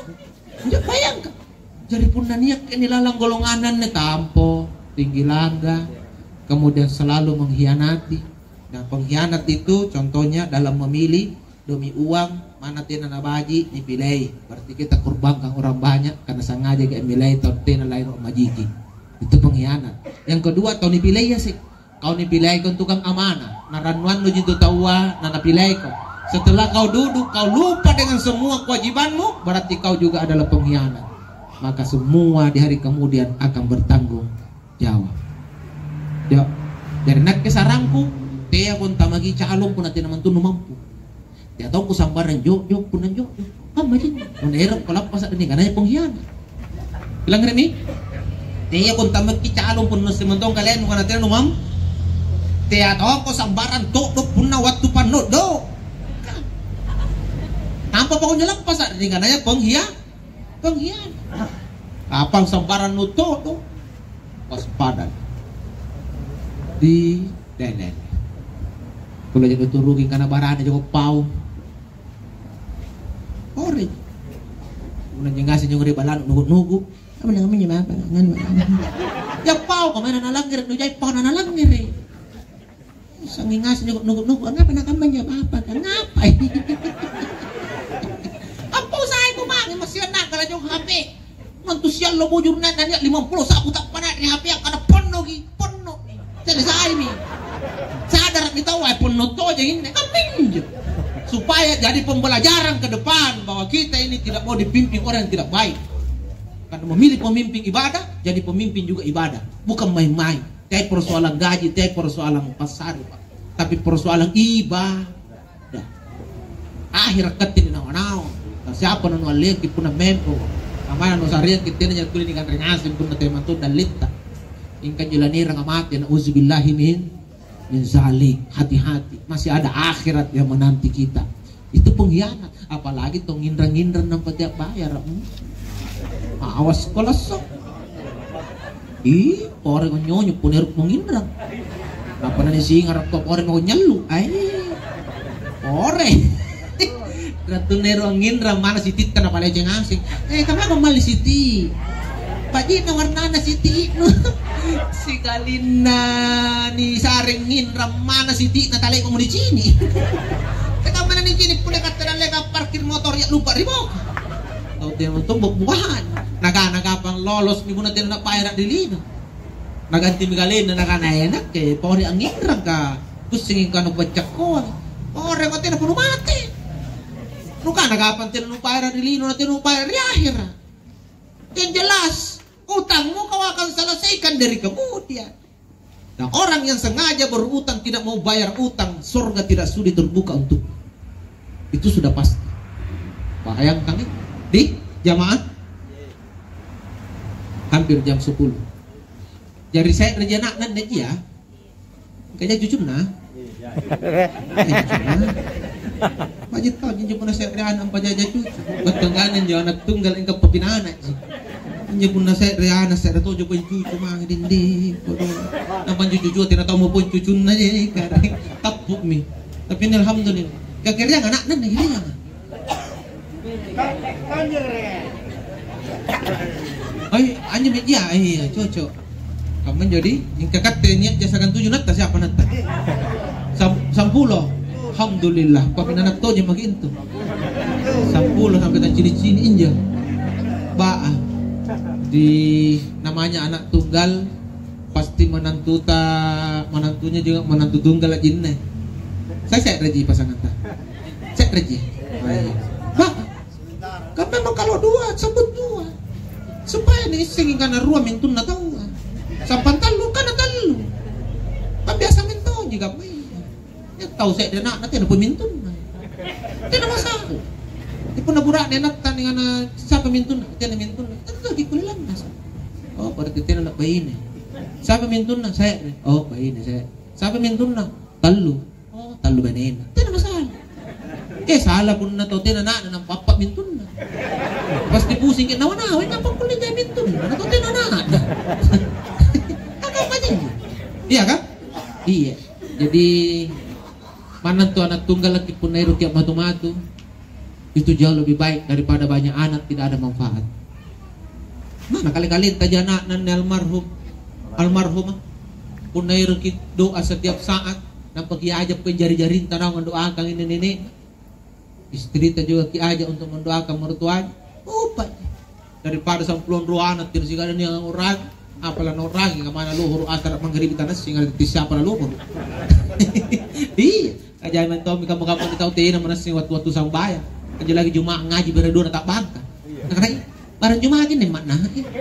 Injo bayangka. Jari punna niakkeni lalang golonganna anne tampo, tinggi langgang, kemudian selalu mengkhianati. Nah, pengkhianat itu contohnya dalam memilih demi uang, mana tena nabaji nipilei. Berarti kita korbankan orang banyak karena sengajaki ammilei tau tena lain majiki. Itu pengkhianat. Yang kedua, tau nipilei ya sih. Kau nipileiko tukang amanah, narannuannuji tu taua nanapileiko. Setelah kau duduk, kau lupa dengan semua kewajibanmu, berarti kau juga adalah pengkhianat. Maka semua di hari kemudian akan bertanggung jawab. Yo, jari nakke sarangku, teako antamaki calon punna tena mantunnu mampu. Tea tongko sambarang jokjok, punna jokjok. Kammaji. Punna ero' kalappasa' ri nikanaya pengkhianat. Pilangngerimi? Teako antamaki calon punna simantong kaleang nukana tena numam. Tea tongko sambarang to'do punna wattu panno'do. Nampa pakunjo lappasa' ri nikanaya penghia-, pengkhianat. Kapang sambarang nuto'do. Waspada. Di Deh, deh, deh. Kulo jaga turuki kana barane jaga pau. Ori. Muna jengasi nyong ri balanu nugu-nugu. Apa namanya apa? Nganu. Ya pau, kau mana nalanggar, nu jai pau na nalanggar. Sangi ngasi nugu-nugu, ngapa nakamma jawab apa? Ngapa? Apa usaha itu, Bang? Masih anak kalau jauh H P. Mantu siallo bujur na, nania' limampulo sabu tappana ri H P, akkana ponnoki, ponno. Jadi saimi. Sadarami tau, eh, ponno tojeng inne. Kaminjo. Supaya jadi pembelajaran ke depan bahwa kita ini tidak mau dipimpin orang yang tidak baik. Karena memilih pemimpin ibadah, jadi pemimpin juga ibadah. Bukan main-main. Teai persoalan gaji, teai persoalan passare, Pak. Tapi persoalan ibadah. Dah. Ahera' katte ri nawa-nawa. Na siapa nanualleangki punna mempo? Namana nusareangki tena ja tuli nikanre ngaseng punna tea mantu dalle'ta. Ingkanjo lanieranga mate, nauzubillahi min, min zalik. Hati-hati. Masih ada akhirat yang menanti kita. Itu pengkhianat. Apalagi tong nginrang-nginrang nampa tea bayara. Hmm. Awas ko lasso. Ih, pore ko nyonyo punna ero' menginrang. Apa nani singa rokko pore mau nyallu. Ai. Pore. Ratu nero nginrang mana sititta na palece ngaseng. Eh, kenapa mali siti? Pajina warnana siti nu. Sikalinna ni sareng nginrang mana siti na tale mau dicini. Kenapa nani cini pule kata dalle parkir motor ya lupa ribok. Tau tena untung buah-buahan. Naga-naga pang lolos mi punna tena nabayara ri lino. Nagantimi kalenna nakana, "Eh, nakke pore angnginrangka, pussingi kanu paccakoang." Pore ko tena punu mate. Nukana kapang tena nubayara ri lino, na tena nubayara ri ahera. Yang jelas, utangmu kau akan selesaikan dari kemudian. Nah, orang yang sengaja berutang, tidak mau bayar utang, sorga tidak sudi terbuka untuknya. Itu sudah pasti. Bayangkan, eh, di jamaah hampir jam sepuluh. Jari se're ji ana'na anne ji, ya. Kaja cucunna. Eh, cucunna. Baji' tau ji punna se're ana' ampajaja cucu. Battanggana injo ana' tunggal engka papinana ji. Injo punna se're ana' se're tojo pole cucu mange dinding. Kodong. Nampa injo cucu tena tau mo pole cucunna je, kare. Tappu'mi. Tapi ini alhamdulillah. Kakiriang ana'na, kakiriang. Ai, anjo media, iya, cocok. Kammanjo di, mingka katte nia' jasa gantuju natta siapa natta? Sam-, sampulo. Alhamdulillah, paminanattoje maki intu. Sampulo sampai taccini-cini injo. Baa. Di namanya anak tunggal, pasti menantuta, menantunya juga menantu tunggal jinne. Saya se're ji pasanganta. Se're ji. Oh, iya. Baa. Kan memang kalau dua, sebut dua. Supaya niissengi kana rua mintunna taua. Sampang tallu, kana tallu. Kan biasa mentoji kammaya. Ya tau se're ana'na tena pun mintunna. Tena masalah. Tapi punna bura'ne anatta ning ana siapa mintunna? Tena mintunna. Tentu ki kulle lannasa. Oh, berarti tena na baine. Siapa mintunna? Se're. Oh, baine se're. Siapa mintunna? Tallu. Oh, tallu bainenna. Tena masalah. Eh, salah punna tau tena ana'na nampa appa mintunna. Pasti pusing ke nawa-nawa, "Ngapa kulle jai mintunna? Ana tau tena ana'na." Kan apa janji? Iya kan? Iya. Jadi, manna tu anak tunggal laki punna ero kia matu-matu. Itu jauh lebih baik daripada banyak anak tidak ada manfaat. Mana kali-kali taja ana'na anne almarhum, almarhumah. Punna eroki doa setiap saat, nampa kiaja pokokna jari-jarinta naung mendoakan ini nenek. Istrita juga kiaja untuk mendoakan mertuanya. Upa. Daripada sampulo rua anak tidak sigala nia orang, apala norangi kamana lohoro asara mangribi tanassinga siapa lohoro. Iya. Kajai mentong kamma-kamma tau tena manassing wattu-wattu sambayang. Anjo lagi Juma' ngaji bere dua tabbangka. Iya. Nakana, "Barang Juma' gini makna."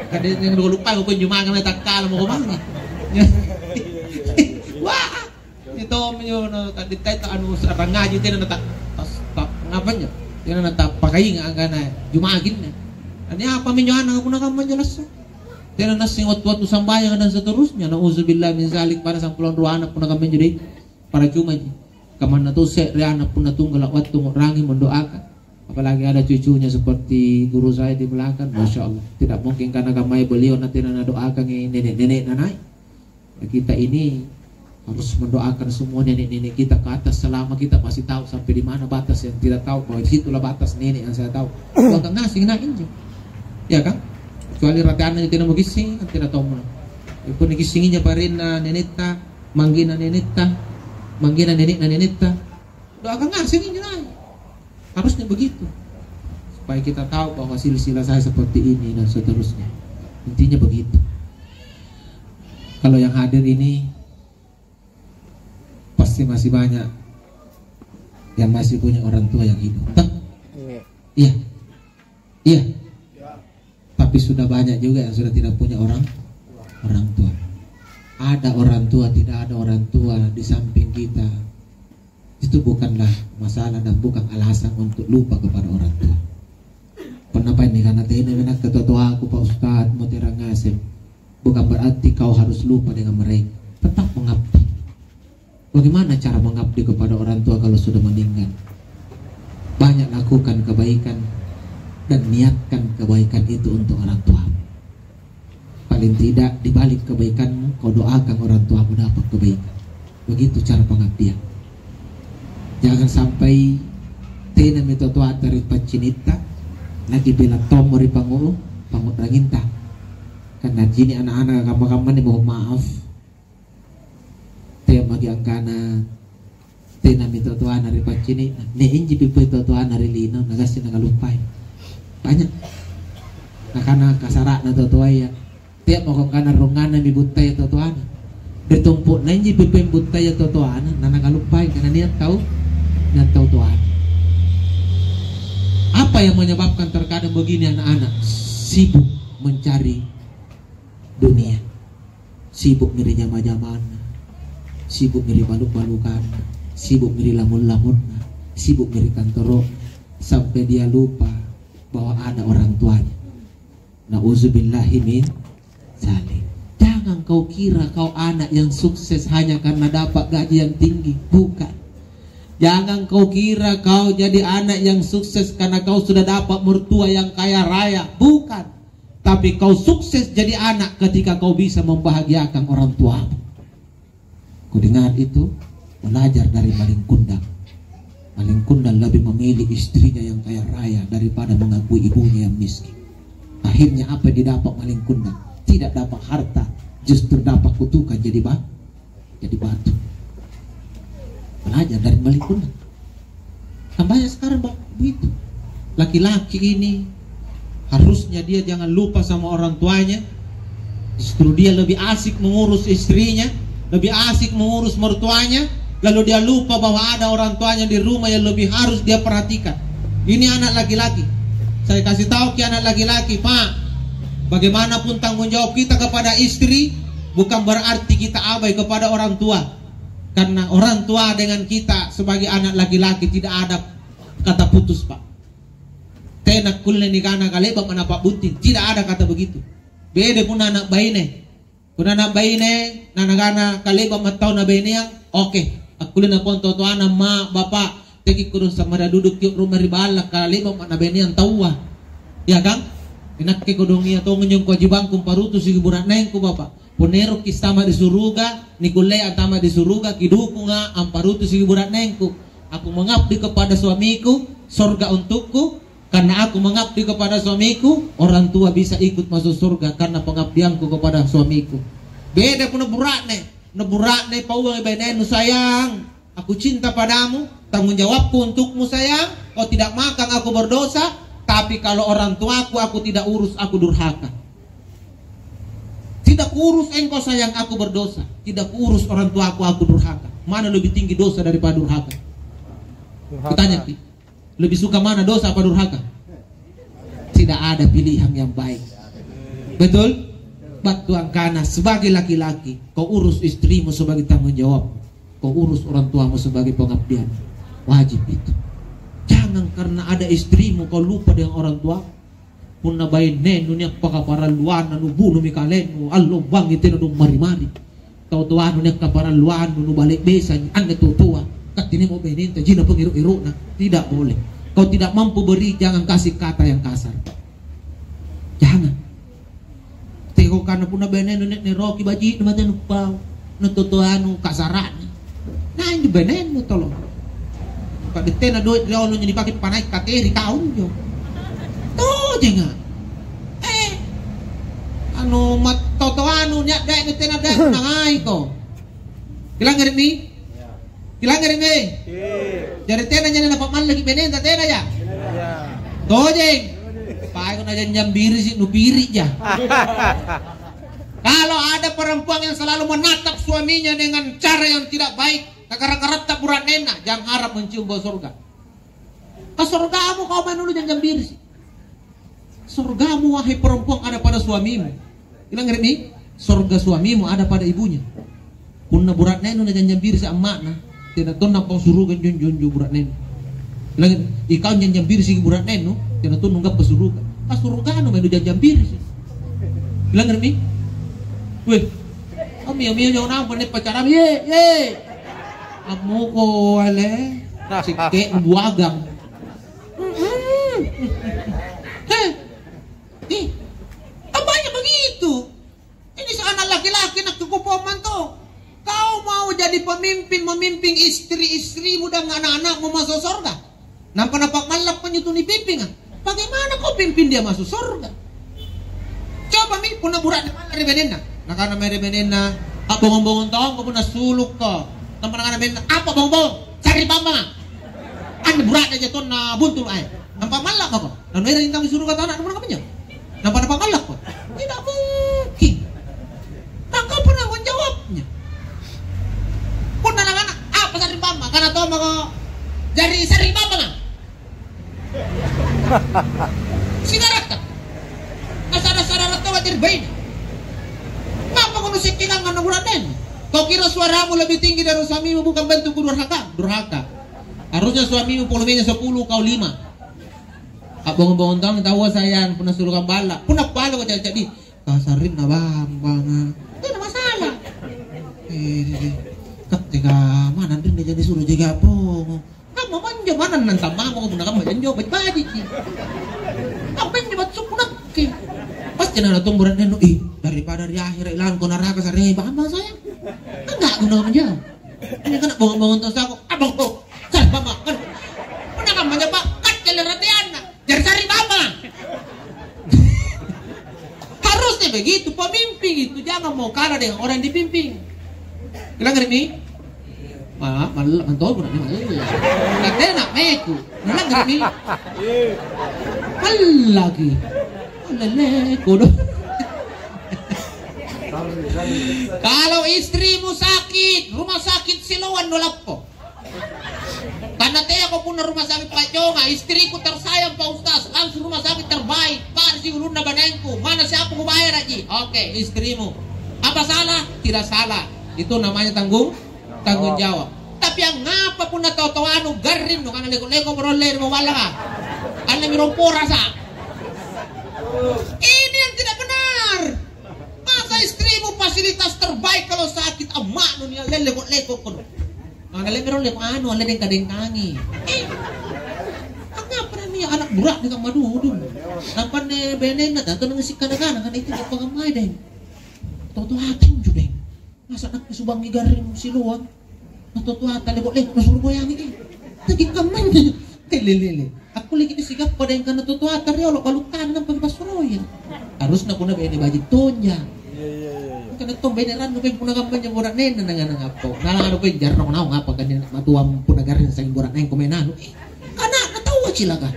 Kada yang dua lupa kau Juma' kami takkala mau kemana. Wah, itu menyo na tadittai ta anu sarang ngaji tena na tak tas tak ngapanya. Tena na tak pakainga angkana Juma' gini. Ini apa menyo anak aku nakam menjelaskan. Tena nassing wattu-wattu sambayang dan seterusnya. Nauzubillah min zalik pada sampulo rua anak punna kamma menjo deh. Para cuma ji. Kamanna to se're anak punna tunggala wattu ngu'rangi mendoakan. Apalagi ada cucunya seperti guru saya di belakang, Masya Allah. Tidak mungkin karena kamai beliau nanti nana doakan nenek-nenek nanai. Kita ini harus mendoakan semua nenek-nenek kita ke atas selama kita masih tahu sampai di mana batas yang tidak tahu, bahwa disitulah batas nenek yang saya tahu. Doakan ngasih nak injo. Ya kan? Kecuali rateanna tidak mau kissing, tidak tahu mana. Pun kissinginya parinna nenetta, manggina nenetta, manggina nenekna nenetta. Doakan ngaseng injo nai. Harusnya begitu. Supaya kita tahu bahwa silsilah saya seperti ini dan seterusnya. Intinya begitu. Kalau yang hadir ini pasti masih banyak yang masih punya orang tua yang hidup. Toh? Iya. Iya. Iya. Tapi sudah banyak juga yang sudah tidak punya orang orang tua. Ada orang tua, tidak ada orang tua di samping kita. Itu bukanlah masalah dan bukan alasan untuk lupa kepada orang tua. Kenapa ini? Karena tena mena ketua-tuaku, Pak Ustadz, mau terang ngasem. Bukan berarti kau harus lupa dengan mereka. Tetap mengabdi. Bagaimana cara mengabdi kepada orang tua kalau sudah meninggal? Banyak lakukan kebaikan dan niatkan kebaikan itu untuk orang tua. Paling tidak di balik kebaikanmu, kau doakan orang tuamu dapat kebaikan. Begitu cara pengabdian. Jangan sampai tenami totoata ri paccinitta, nakibela tommo ri pangu-, pangu'ranginta. Karena cini anak-anak kamma-kamma ni, mohon maaf, tea maki angkana tenami totoana ri paccini'na, nia' inji pippoi totoana ri lino, nagassi nakaluppai. Banyak. Nakana kasara'na totoaya, tea mako angkana rungnganna mi buttaya totoana. Ri tompo'na inji pippoi buttaya totoana, nanakaluppai karena nia' tau, nia' tau toana. Apa yang menyebabkan terkadang begini anak-anak? Sibuk mencari dunia. Sibukmi ri jama-jamanna, sibukmi ri balu-balukanna, sibukmi ri lamung-lamunna, sibukmi ri kantoro'na, sampai dia lupa bahwa ada orang tuanya. Nauzubillahi min zalik. Jangan kau kira kau anak yang sukses hanya karena dapat gaji yang tinggi. Bukan. Jangan kau kira kau jadi anak yang sukses karena kau sudah dapat mertua yang kaya raya. Bukan. Tapi kau sukses jadi anak ketika kau bisa membahagiakan orang tuamu. Kudengar itu, belajar dari maling kundang. Maling kundang lebih memilih istrinya yang kaya raya daripada mengakui ibunya yang miskin. Akhirnya apa yang didapat maling kundang? Tidak dapat harta, justru dapat kutukang jadi ba-, jadi batu. Belajar dari Malikuna. Kan banyak sekarang, Pak, begitu. Laki-laki ini harusnya dia jangan lupa sama orang tuanya. Justru dia lebih asik mengurus istrinya, lebih asik mengurus mertuanya, lalu dia lupa bahwa ada orang tuanya di rumah yang lebih harus dia perhatikan. Ini anak laki-laki. Saya kasih tahu ke anak laki-laki, Pak, bagaimanapun tanggung jawab kita kepada istri, bukan berarti kita abai kepada orang tua. Karena orang tua dengan kita sebagai anak laki-laki tidak ada kata putus, Pak. Tena kulle nikana kale'ba manapa bunting, tidak ada kata begitu. Beda punna anak baine. Punna anak baine, na nakana kale'ba mattau na baineang, oke. Akkulle napong totoana, "Ma, Bapa, teki kodong samara duduk ki rumah ri balla, kale'ba ma na baineang taua." Ya, Kang? Inakke kodong iya tong nyong kewajibangku parutusi bura'nengku, Bapa. Punna eroki' antama' di suruga, nikullei antama' di suruga, kidukunga' amparutusi bura'nengku. Aku mengabdi kepada suamiku, sorga untukku, karena aku mengabdi kepada suamiku, orang tua bisa ikut masuk surga karena pengabdianku kepada suamiku. Beda punna bura'ne, na bura'ne pauangi bainennu, sayang. Aku cinta padamu, tanggung jawabku untukmu, sayang. Kau tidak makan, aku berdosa. Tapi kalau orang tuaku, aku tidak urus, aku durhaka. Tidak kuurus engkau, sayang, aku berdosa. Tidak kuurus orang tuaku, aku durhaka. Mana lebih tinggi dosa daripada durhaka? Durhaka. Kutanya, Ki, lebih suka mana, dosa apa durhaka? Tidak ada pilihan yang baik. Betul? Battu angkana, sebagai laki-laki, kau urus istrimu sebagai tanggung jawab. Kau urus orang tuamu sebagai pengabdian. Wajib itu. Jangan karena ada istrimu kau lupa dengan orang tua. Punna bainennu nia' pakaparalluanna, nubunumi kalennu, allombangi tena dong mari-mari. Tau toanu nia' kaparalluannu, nubale' besangi anne tau toa. Kattinemo bainenta, jina pengero-erona. Tidak boleh. Kau tidak mampu beri, jangan kasih kata yang kasar. Jangan. Teko kana punna bainennu ne-, neroki baji'nu mate nupau. Natotoanu kasara'na. Nah, injo bainennu tolo. Padettena doe' riolo njo nipake panai' kateri kau njo. Tojenga. Eh, anu, mat-, totoanu nia' dae' tena dae' nangaiko. Kilangngere'mi? Kilangngere'mi? Iya. Jari tena nyana napa'mallaki benenta, tena ya? Iya. Tojeng. Paeko najanjang birisi, nupiri ja. Kalau ada perempuan yang selalu menatap suaminya dengan cara yang tidak baik, nakara-karatta bura'nenna, jangan harap mencium bau surga. Ka surgamu kau maeng dulu janjang birisi. Surgamu, wahai perempuan, ada pada suamimu. Bilang, "Rini, surga suamimu ada pada ibunya." Punna bura'nenu najanjang birisi amma'na, tena tonna pau suruga njo-, njo-, njo bura'nenu. Bilang, "Ikau janjang birisi bura'nenu, tena tonna gappa suruga." Ka surganu maeng nujanjang birisi. Bilang, "Rini, weh, amio-mio nyawa nampa nia' pacarami, ye, ye." Ammoko ale, sikke buagang. Mm-mm. Heh. Ih, kan banyak begitu. Ini seorang laki-laki nak cukup poman tuh. Kau mau jadi pemimpin, memimpin istri-istrimu dan anak-anakmu masuk surga? Nampa napa'malla' panjo tu nipimpinga. Bagaimana kau pimpin dia masuk surga? Coba mi, punna bura'ne malla' ri benenna. Nakana mae ri benenna, "A'bongong-bongong tongko punna sulukko." Nampa nakana benenna, "Apa bongong-bongong? Sari'bammanga." Anne bura'ne ja tonna buntu' ae. Nampa malla' mako. Nanuerangi tau suruga tana, nampa nakamma injo? Nampa napamallakko? Tidak mungkin. Maka apa tanggung jawabnya? Punna nakana, "Apa sari'bamma?" Kana tomako, "Jari sari'bammanga." Sigarakka. Nasara-sara rattoa jari baine. Ngapa kono sekkingang anna bura'nenu? Kau kira suaramu lebih tinggi dari suamimu bukan bentuk durhaka? Durhaka. Harusnya suamimu volumenya sepuluh, kau lima. A'bongong-bongong tong taua sayang, punna sulukang balla'. Punna paleko ca'di-ca'di, "Kasarrinna bambanga." Tena masalah. Eh, katte ka manang rinna jadi suruh jaga bongo. Kamma manjo manang nang tammamo punna kamma janjo baji'-bajiki. Kamma injo battu punna ki. Pasti nana tong bura'nenu, "Ih, daripada ri ahera' ilangko naraka sarrengi bambang sayang." Kan gak guna manjo. Ini kan bongo-bongo tong sako, "Abang kok." Sari'bamma, kan. Punna kamma japa, kaccele rateanna. Jari sari'bamma. Harusnya Begitu pemimpin itu, jangan mau kalah dengan orang yang dipimpin. Langgeri'mi? Ma-, malla-, mantong bura'ne malla. Katena meku. Langgeri'mi? Mallaki. Lele, kodo. Kalau istrimu sakit, rumah sakit Siloam nulappo. Karena teako punna rumah sakit Pajonga, istriku tersayang Pak Ustaz, langsung rumah sakit terbaik, Pak, ri ulunna banaengku, mana siapa kubayara ji? Oke, istrimu. Apa salah? Tidak salah. Itu namanya tanggung, tanggung jawab. Tapi angngapa punna tau-tau anu garring, no, karena leko-leko barolle ri mawallanga? Anne mi romporasa. Ini yang tidak benar. Masa istrimu fasilitas terbaik kalau sakit, amma'nu nia leko-leko kono. Angkana lembero lem anu, alle dengka-dengkangi. Eh, angngapa nia anak bura'ne kamma dudu? Nampa anne benenna tantu nangsi kana-kana, kan itu apa kamma deng. Toto atinju deng. Masa nakke subangi garring Siloam? Natotoata lebo-lebo nasuro boyangi, eh. Tegi kammanya. Lelele. Akkulleki nisigappa deng kana totoata riolo baluttana nampa kipassuroyang. Harusna punna bene baji' tonja. Iya, iya, iya, iya. Kana tong bene rannu peng punna kammanya bura'nenna nanganang appo. Nalang anu peng jarrong naung apa kan matuang punna garring saing bura'nengko menanu. Eh, ana'na taua cilaka.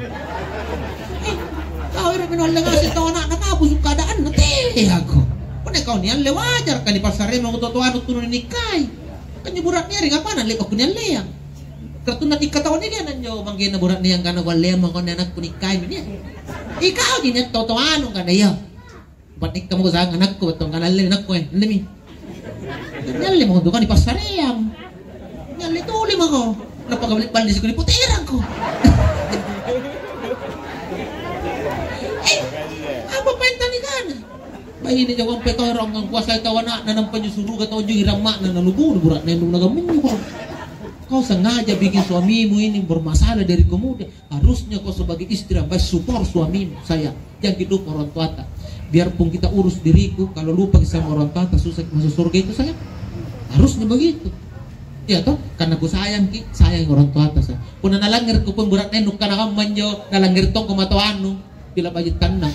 Eh, kau ero meno alle ngaseng tau ana'na kabusu' keadaanna, teako. Punna kau nialle wajar kali passaremako totoanu tunu ninikkai. Kan bura'ne ri kapana le'bakko nialleang. Kartunna tikka taua nialle anjo manggena bura'ne angkana kualleang mako anne anakku nikkaimi nia. Ikauji nia totoanu kana iya. Patikka mako sanga anakku, battu angkana alle anakku, eh, allemi. Nialle mako tukang nipassareang. Nialle tuli mako. Napaka bali-, balli sikuli poterangko. Eh, apa paeng tanikana? Baine jawang petorong angkuasai tau ana'na nampa anjo suruga tau anjo iramma'na nalubunu bura'nenu nagammannyu ko. Kau sengaja bikin suamimu ini bermasalah dari kemudian. Harusnya kau sebagai istri yang baik support suamimu, sayang. Jangan lupa orang tuata. Biarpun kita urus diriku, kalau lupa sama orang tuata, susah masuk surga itu, sayang. Harusnya begitu. Iya toh? Karena ku sayangki, sayang orang tuata, sayang. Punna nalanggar ko pun bura'nenu kana kammanjo, nalanggar tongko matoannu. Pila baji' tannang.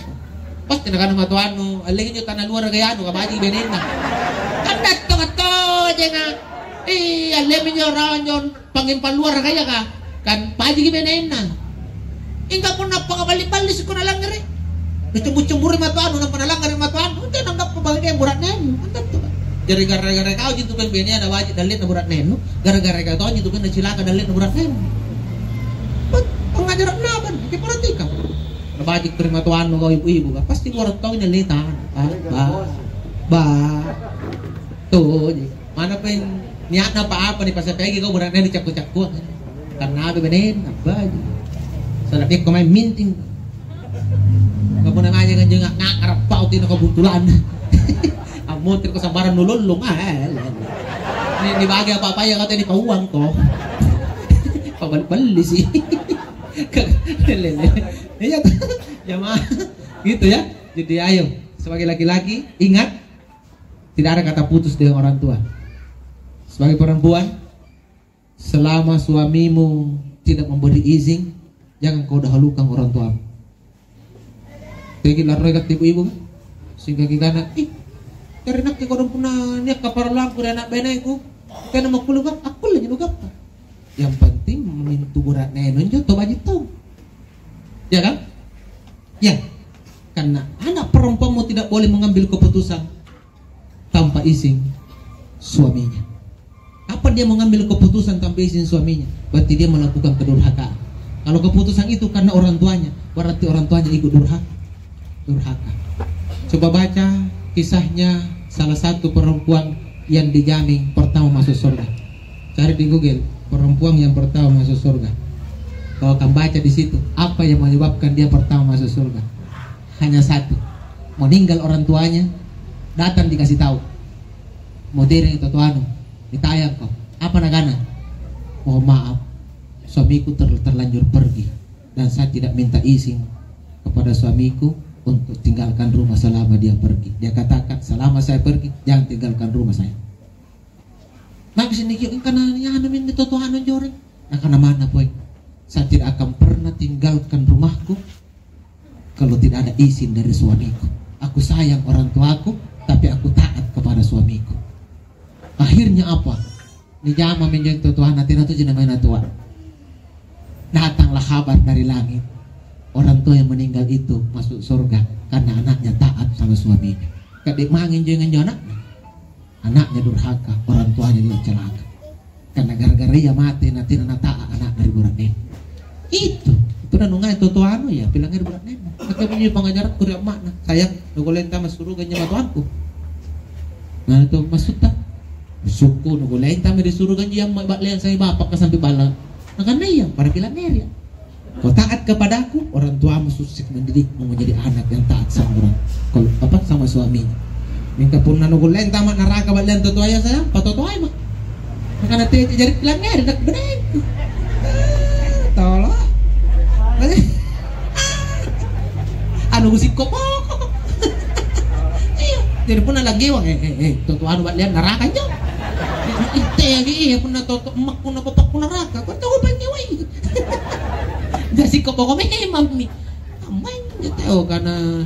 Pasti nakana matoannu, "Allengi injo tana luara gaya anu, kabajiki benenna." Kan datto kattojenga. Iya, allemi injo rawa injo pangngempang luara gaya ka. Kan bajiki benenna. Ingka punna pakaballi-balli sikko nalangngerei. Nacumbu-cumburi matoannu, nampa nalangngerei matoannu. Tena anggappa bagian bura'nenu. Kan datto ka. Jari gara-gara kau jintu peng benea na baji' dalle'na bura'nenu. Gara-gara kau tau jintu peng nacilaka dalle'na bura'nenu. Pangajara'na apa? Kiperhatikang. Nabaji' tu ri matoannu kau ibu-ibu, pasti buarang tau nalleta. Ah, ba. Ba. Tuji. Mana peng niatna apa-apa nih, pas apa lagi kau bura'ne dicakku-cakku. Karena apa benen, apa aja. Salah dia kau main minting. Kau pernah aja kan jenga ngakar pau tino kau buntulan. Amotir kau sabaran nulolong. Ah, eh, eh, eh. Ini dibagi apa-apa ya kau tadi pauang kau. Kau balik-balik sih. Lele. Iya, jamaah. Gitu ya. Jadi ayo, sebagai laki-laki, ingat, tidak ada kata putus dengan orang tua. Sebagai perempuan, selama suamimu tidak memberi izin, jangan kau dahulukan orang tuamu. Tegi larroi katti ibu-ibu, singkaki kana, "Ih, jari nakke kodong punna nia' kaparalluangku ri ana' bainengku, tena makkulle gappa, akkulle ji nugappa." Yang penting mintu bura'nenu injo tau baji' tau. Ya kan? Ya. Karena anak perempuanmu tidak boleh mengambil keputusan tanpa izin suaminya. Apa dia mengambil keputusan tanpa izin suaminya? Berarti dia melakukan kedurhakaan. Kalau keputusan itu karena orang tuanya, berarti orang tuanya ikut durhaka. Durhaka. Coba baca kisahnya salah satu perempuan yang dijamin pertama masuk surga. Cari di Google, perempuan yang pertama masuk surga. Kau akan baca di situ apa yang menyebabkan dia pertama masuk surga. Hanya satu, meninggal orang tuanya, datang dikasih tahu. Modern itu tuanu, ditayang kau. Apa nakana? "Mohon maaf, suamiku ter-, terlanjur pergi dan saya tidak minta izin kepada suamiku untuk tinggalkan rumah selama dia pergi. Dia katakan, 'Selama saya pergi, jangan tinggalkan rumah saya.'" Maka sini kio engkana anu minne toto anu joreng. Nakana mana poe? "Saya tidak akan pernah tinggalkan rumahku kalau tidak ada izin dari suamiku." Aku sayang orang tuaku, tapi aku taat kepada suamiku. Akhirnya apa? Nijamami anjo totoanna, tena tojji namae natoa. Datanglah kabar dari langit, orang tua yang meninggal itu masuk surga karena anaknya taat sama suaminya. Kade' mange anjo, anjo anakna. Anaknya durhaka, orang tuanya juga celaka. Karena gara-gara ia mate, na tena nata'a anakna ri bura'nenna. Itu, itu nanungai totoanu ya, pilangngeri bura'nenna. Maka bunyi pangajaranku ri amma'na, "Sayang, nukullei antama' suruga anjo matoangku?" Nah, itu maksudta. Sukku nukullei antama' ri suruga anjo amma' ba'leang sai bapakka sampe balla'. Nakanaya, pada pilangngeri. Kau taat kepadaku, orang tuamu sukses mendidikmu menjadi anak yang taat sama orang, kalau apa, sama suaminya. Mingka punna nukullei antama' naraka ba'leang totoaya, sayang, patotoai ma'. Makana tete jari pilangngeri, nak benengku. Tolo. Anu, gusikko poko. Iya. Jadi punna lagewang, eh, eh, eh, totoanu ba'leang naraka anjo. Itte lagi, iya, punna toto emakku na bapakku naraka, kau tahu apa nyewai? Gasikko poko memang mi. Amai tau kana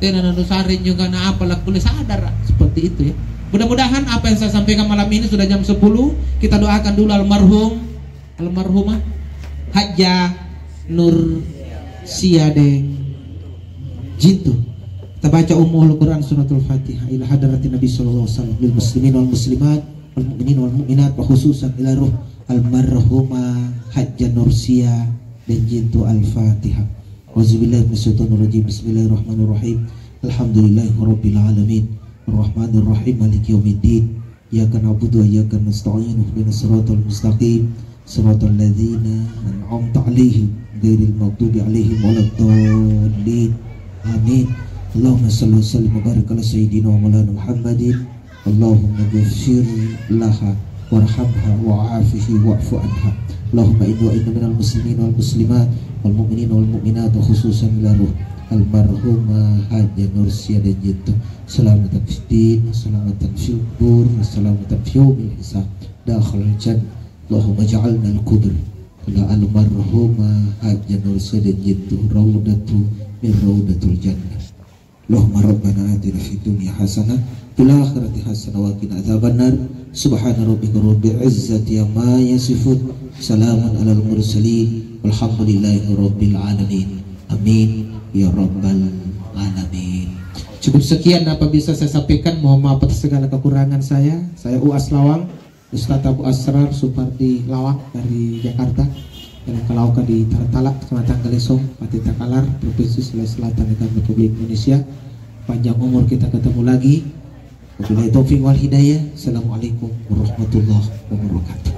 tena nanusarring juga na apa lakkulle sadara seperti itu ya. Mudah-mudahan apa yang saya sampaikan malam ini sudah jam sepuluh, kita doakan dulu almarhum, almarhumah Hajjah Nur Siadeng Jintu. Kita baca Ummul Quran, Suratul Fatihah, ila hadratin Nabi sallallahu alaihi wasallam, lil muslimin wal muslimat, wal mu'minin wal mu'minat, wa khususan ila ruh almarhumah Hajjah Nursia dan Jintu. Al-Fatihah. Auzubillahi minasyaitonir rajim. Bismillahirrahmanirrahim. Alhamdulillahirabbil alamin. Arrahmanirrahim. Maliki yaumiddin. Iyyaka na'budu wa iyyaka nasta'in. Ihdinas siratal mustaqim. Siratal ladzina an'amta 'alaihim ghairil maghdubi 'alaihim waladdallin. Amin. Allahumma shalli wa sallim wa barik ala sayyidina wa maulana Muhammadin. Allahumma ghfir laha warhamha wa'afihi wa'fu anha. Allahumma inna wa inna minal muslimin wal muslimat wal mu'minin wal mu'minat, wa khususan ila ruh almarhumah Hajjah Nursia dan Jintu. Salamatan fid din, salamatan fil kubur, salamatan fi yaumil hisab. Dakhalal jannah. Allahumma ja'alna al kubur ila almarhumah Hajjah Nursia dan Jintu raudatu min raudatul jannah. Allahumma rabbana atina fid dunya hasanah, fil akhirati hasanah wa qina adzabannar. Subhana rabbika rabbil izzati amma yasifun. Salamun alal mursalin. Walhamdulillahi rabbil alamin. Amin ya rabbal alamin. Cukup sekian apa bisa saya sampaikan. Mohon maaf atas segala kekurangan saya. Saya Uas Lawang. Ustadz Abu Asrar Supardi Lawang dari Jakarta, dalam kalaoka di Tartala, Kecamatan Galesong, Pati Takalar, Provinsi Sulawesi Selatan, Negara Republik Indonesia. Panjang umur kita ketemu lagi. Wabillahi taufiq wal hidayah. Assalamualaikum warahmatullahi wabarakatuh.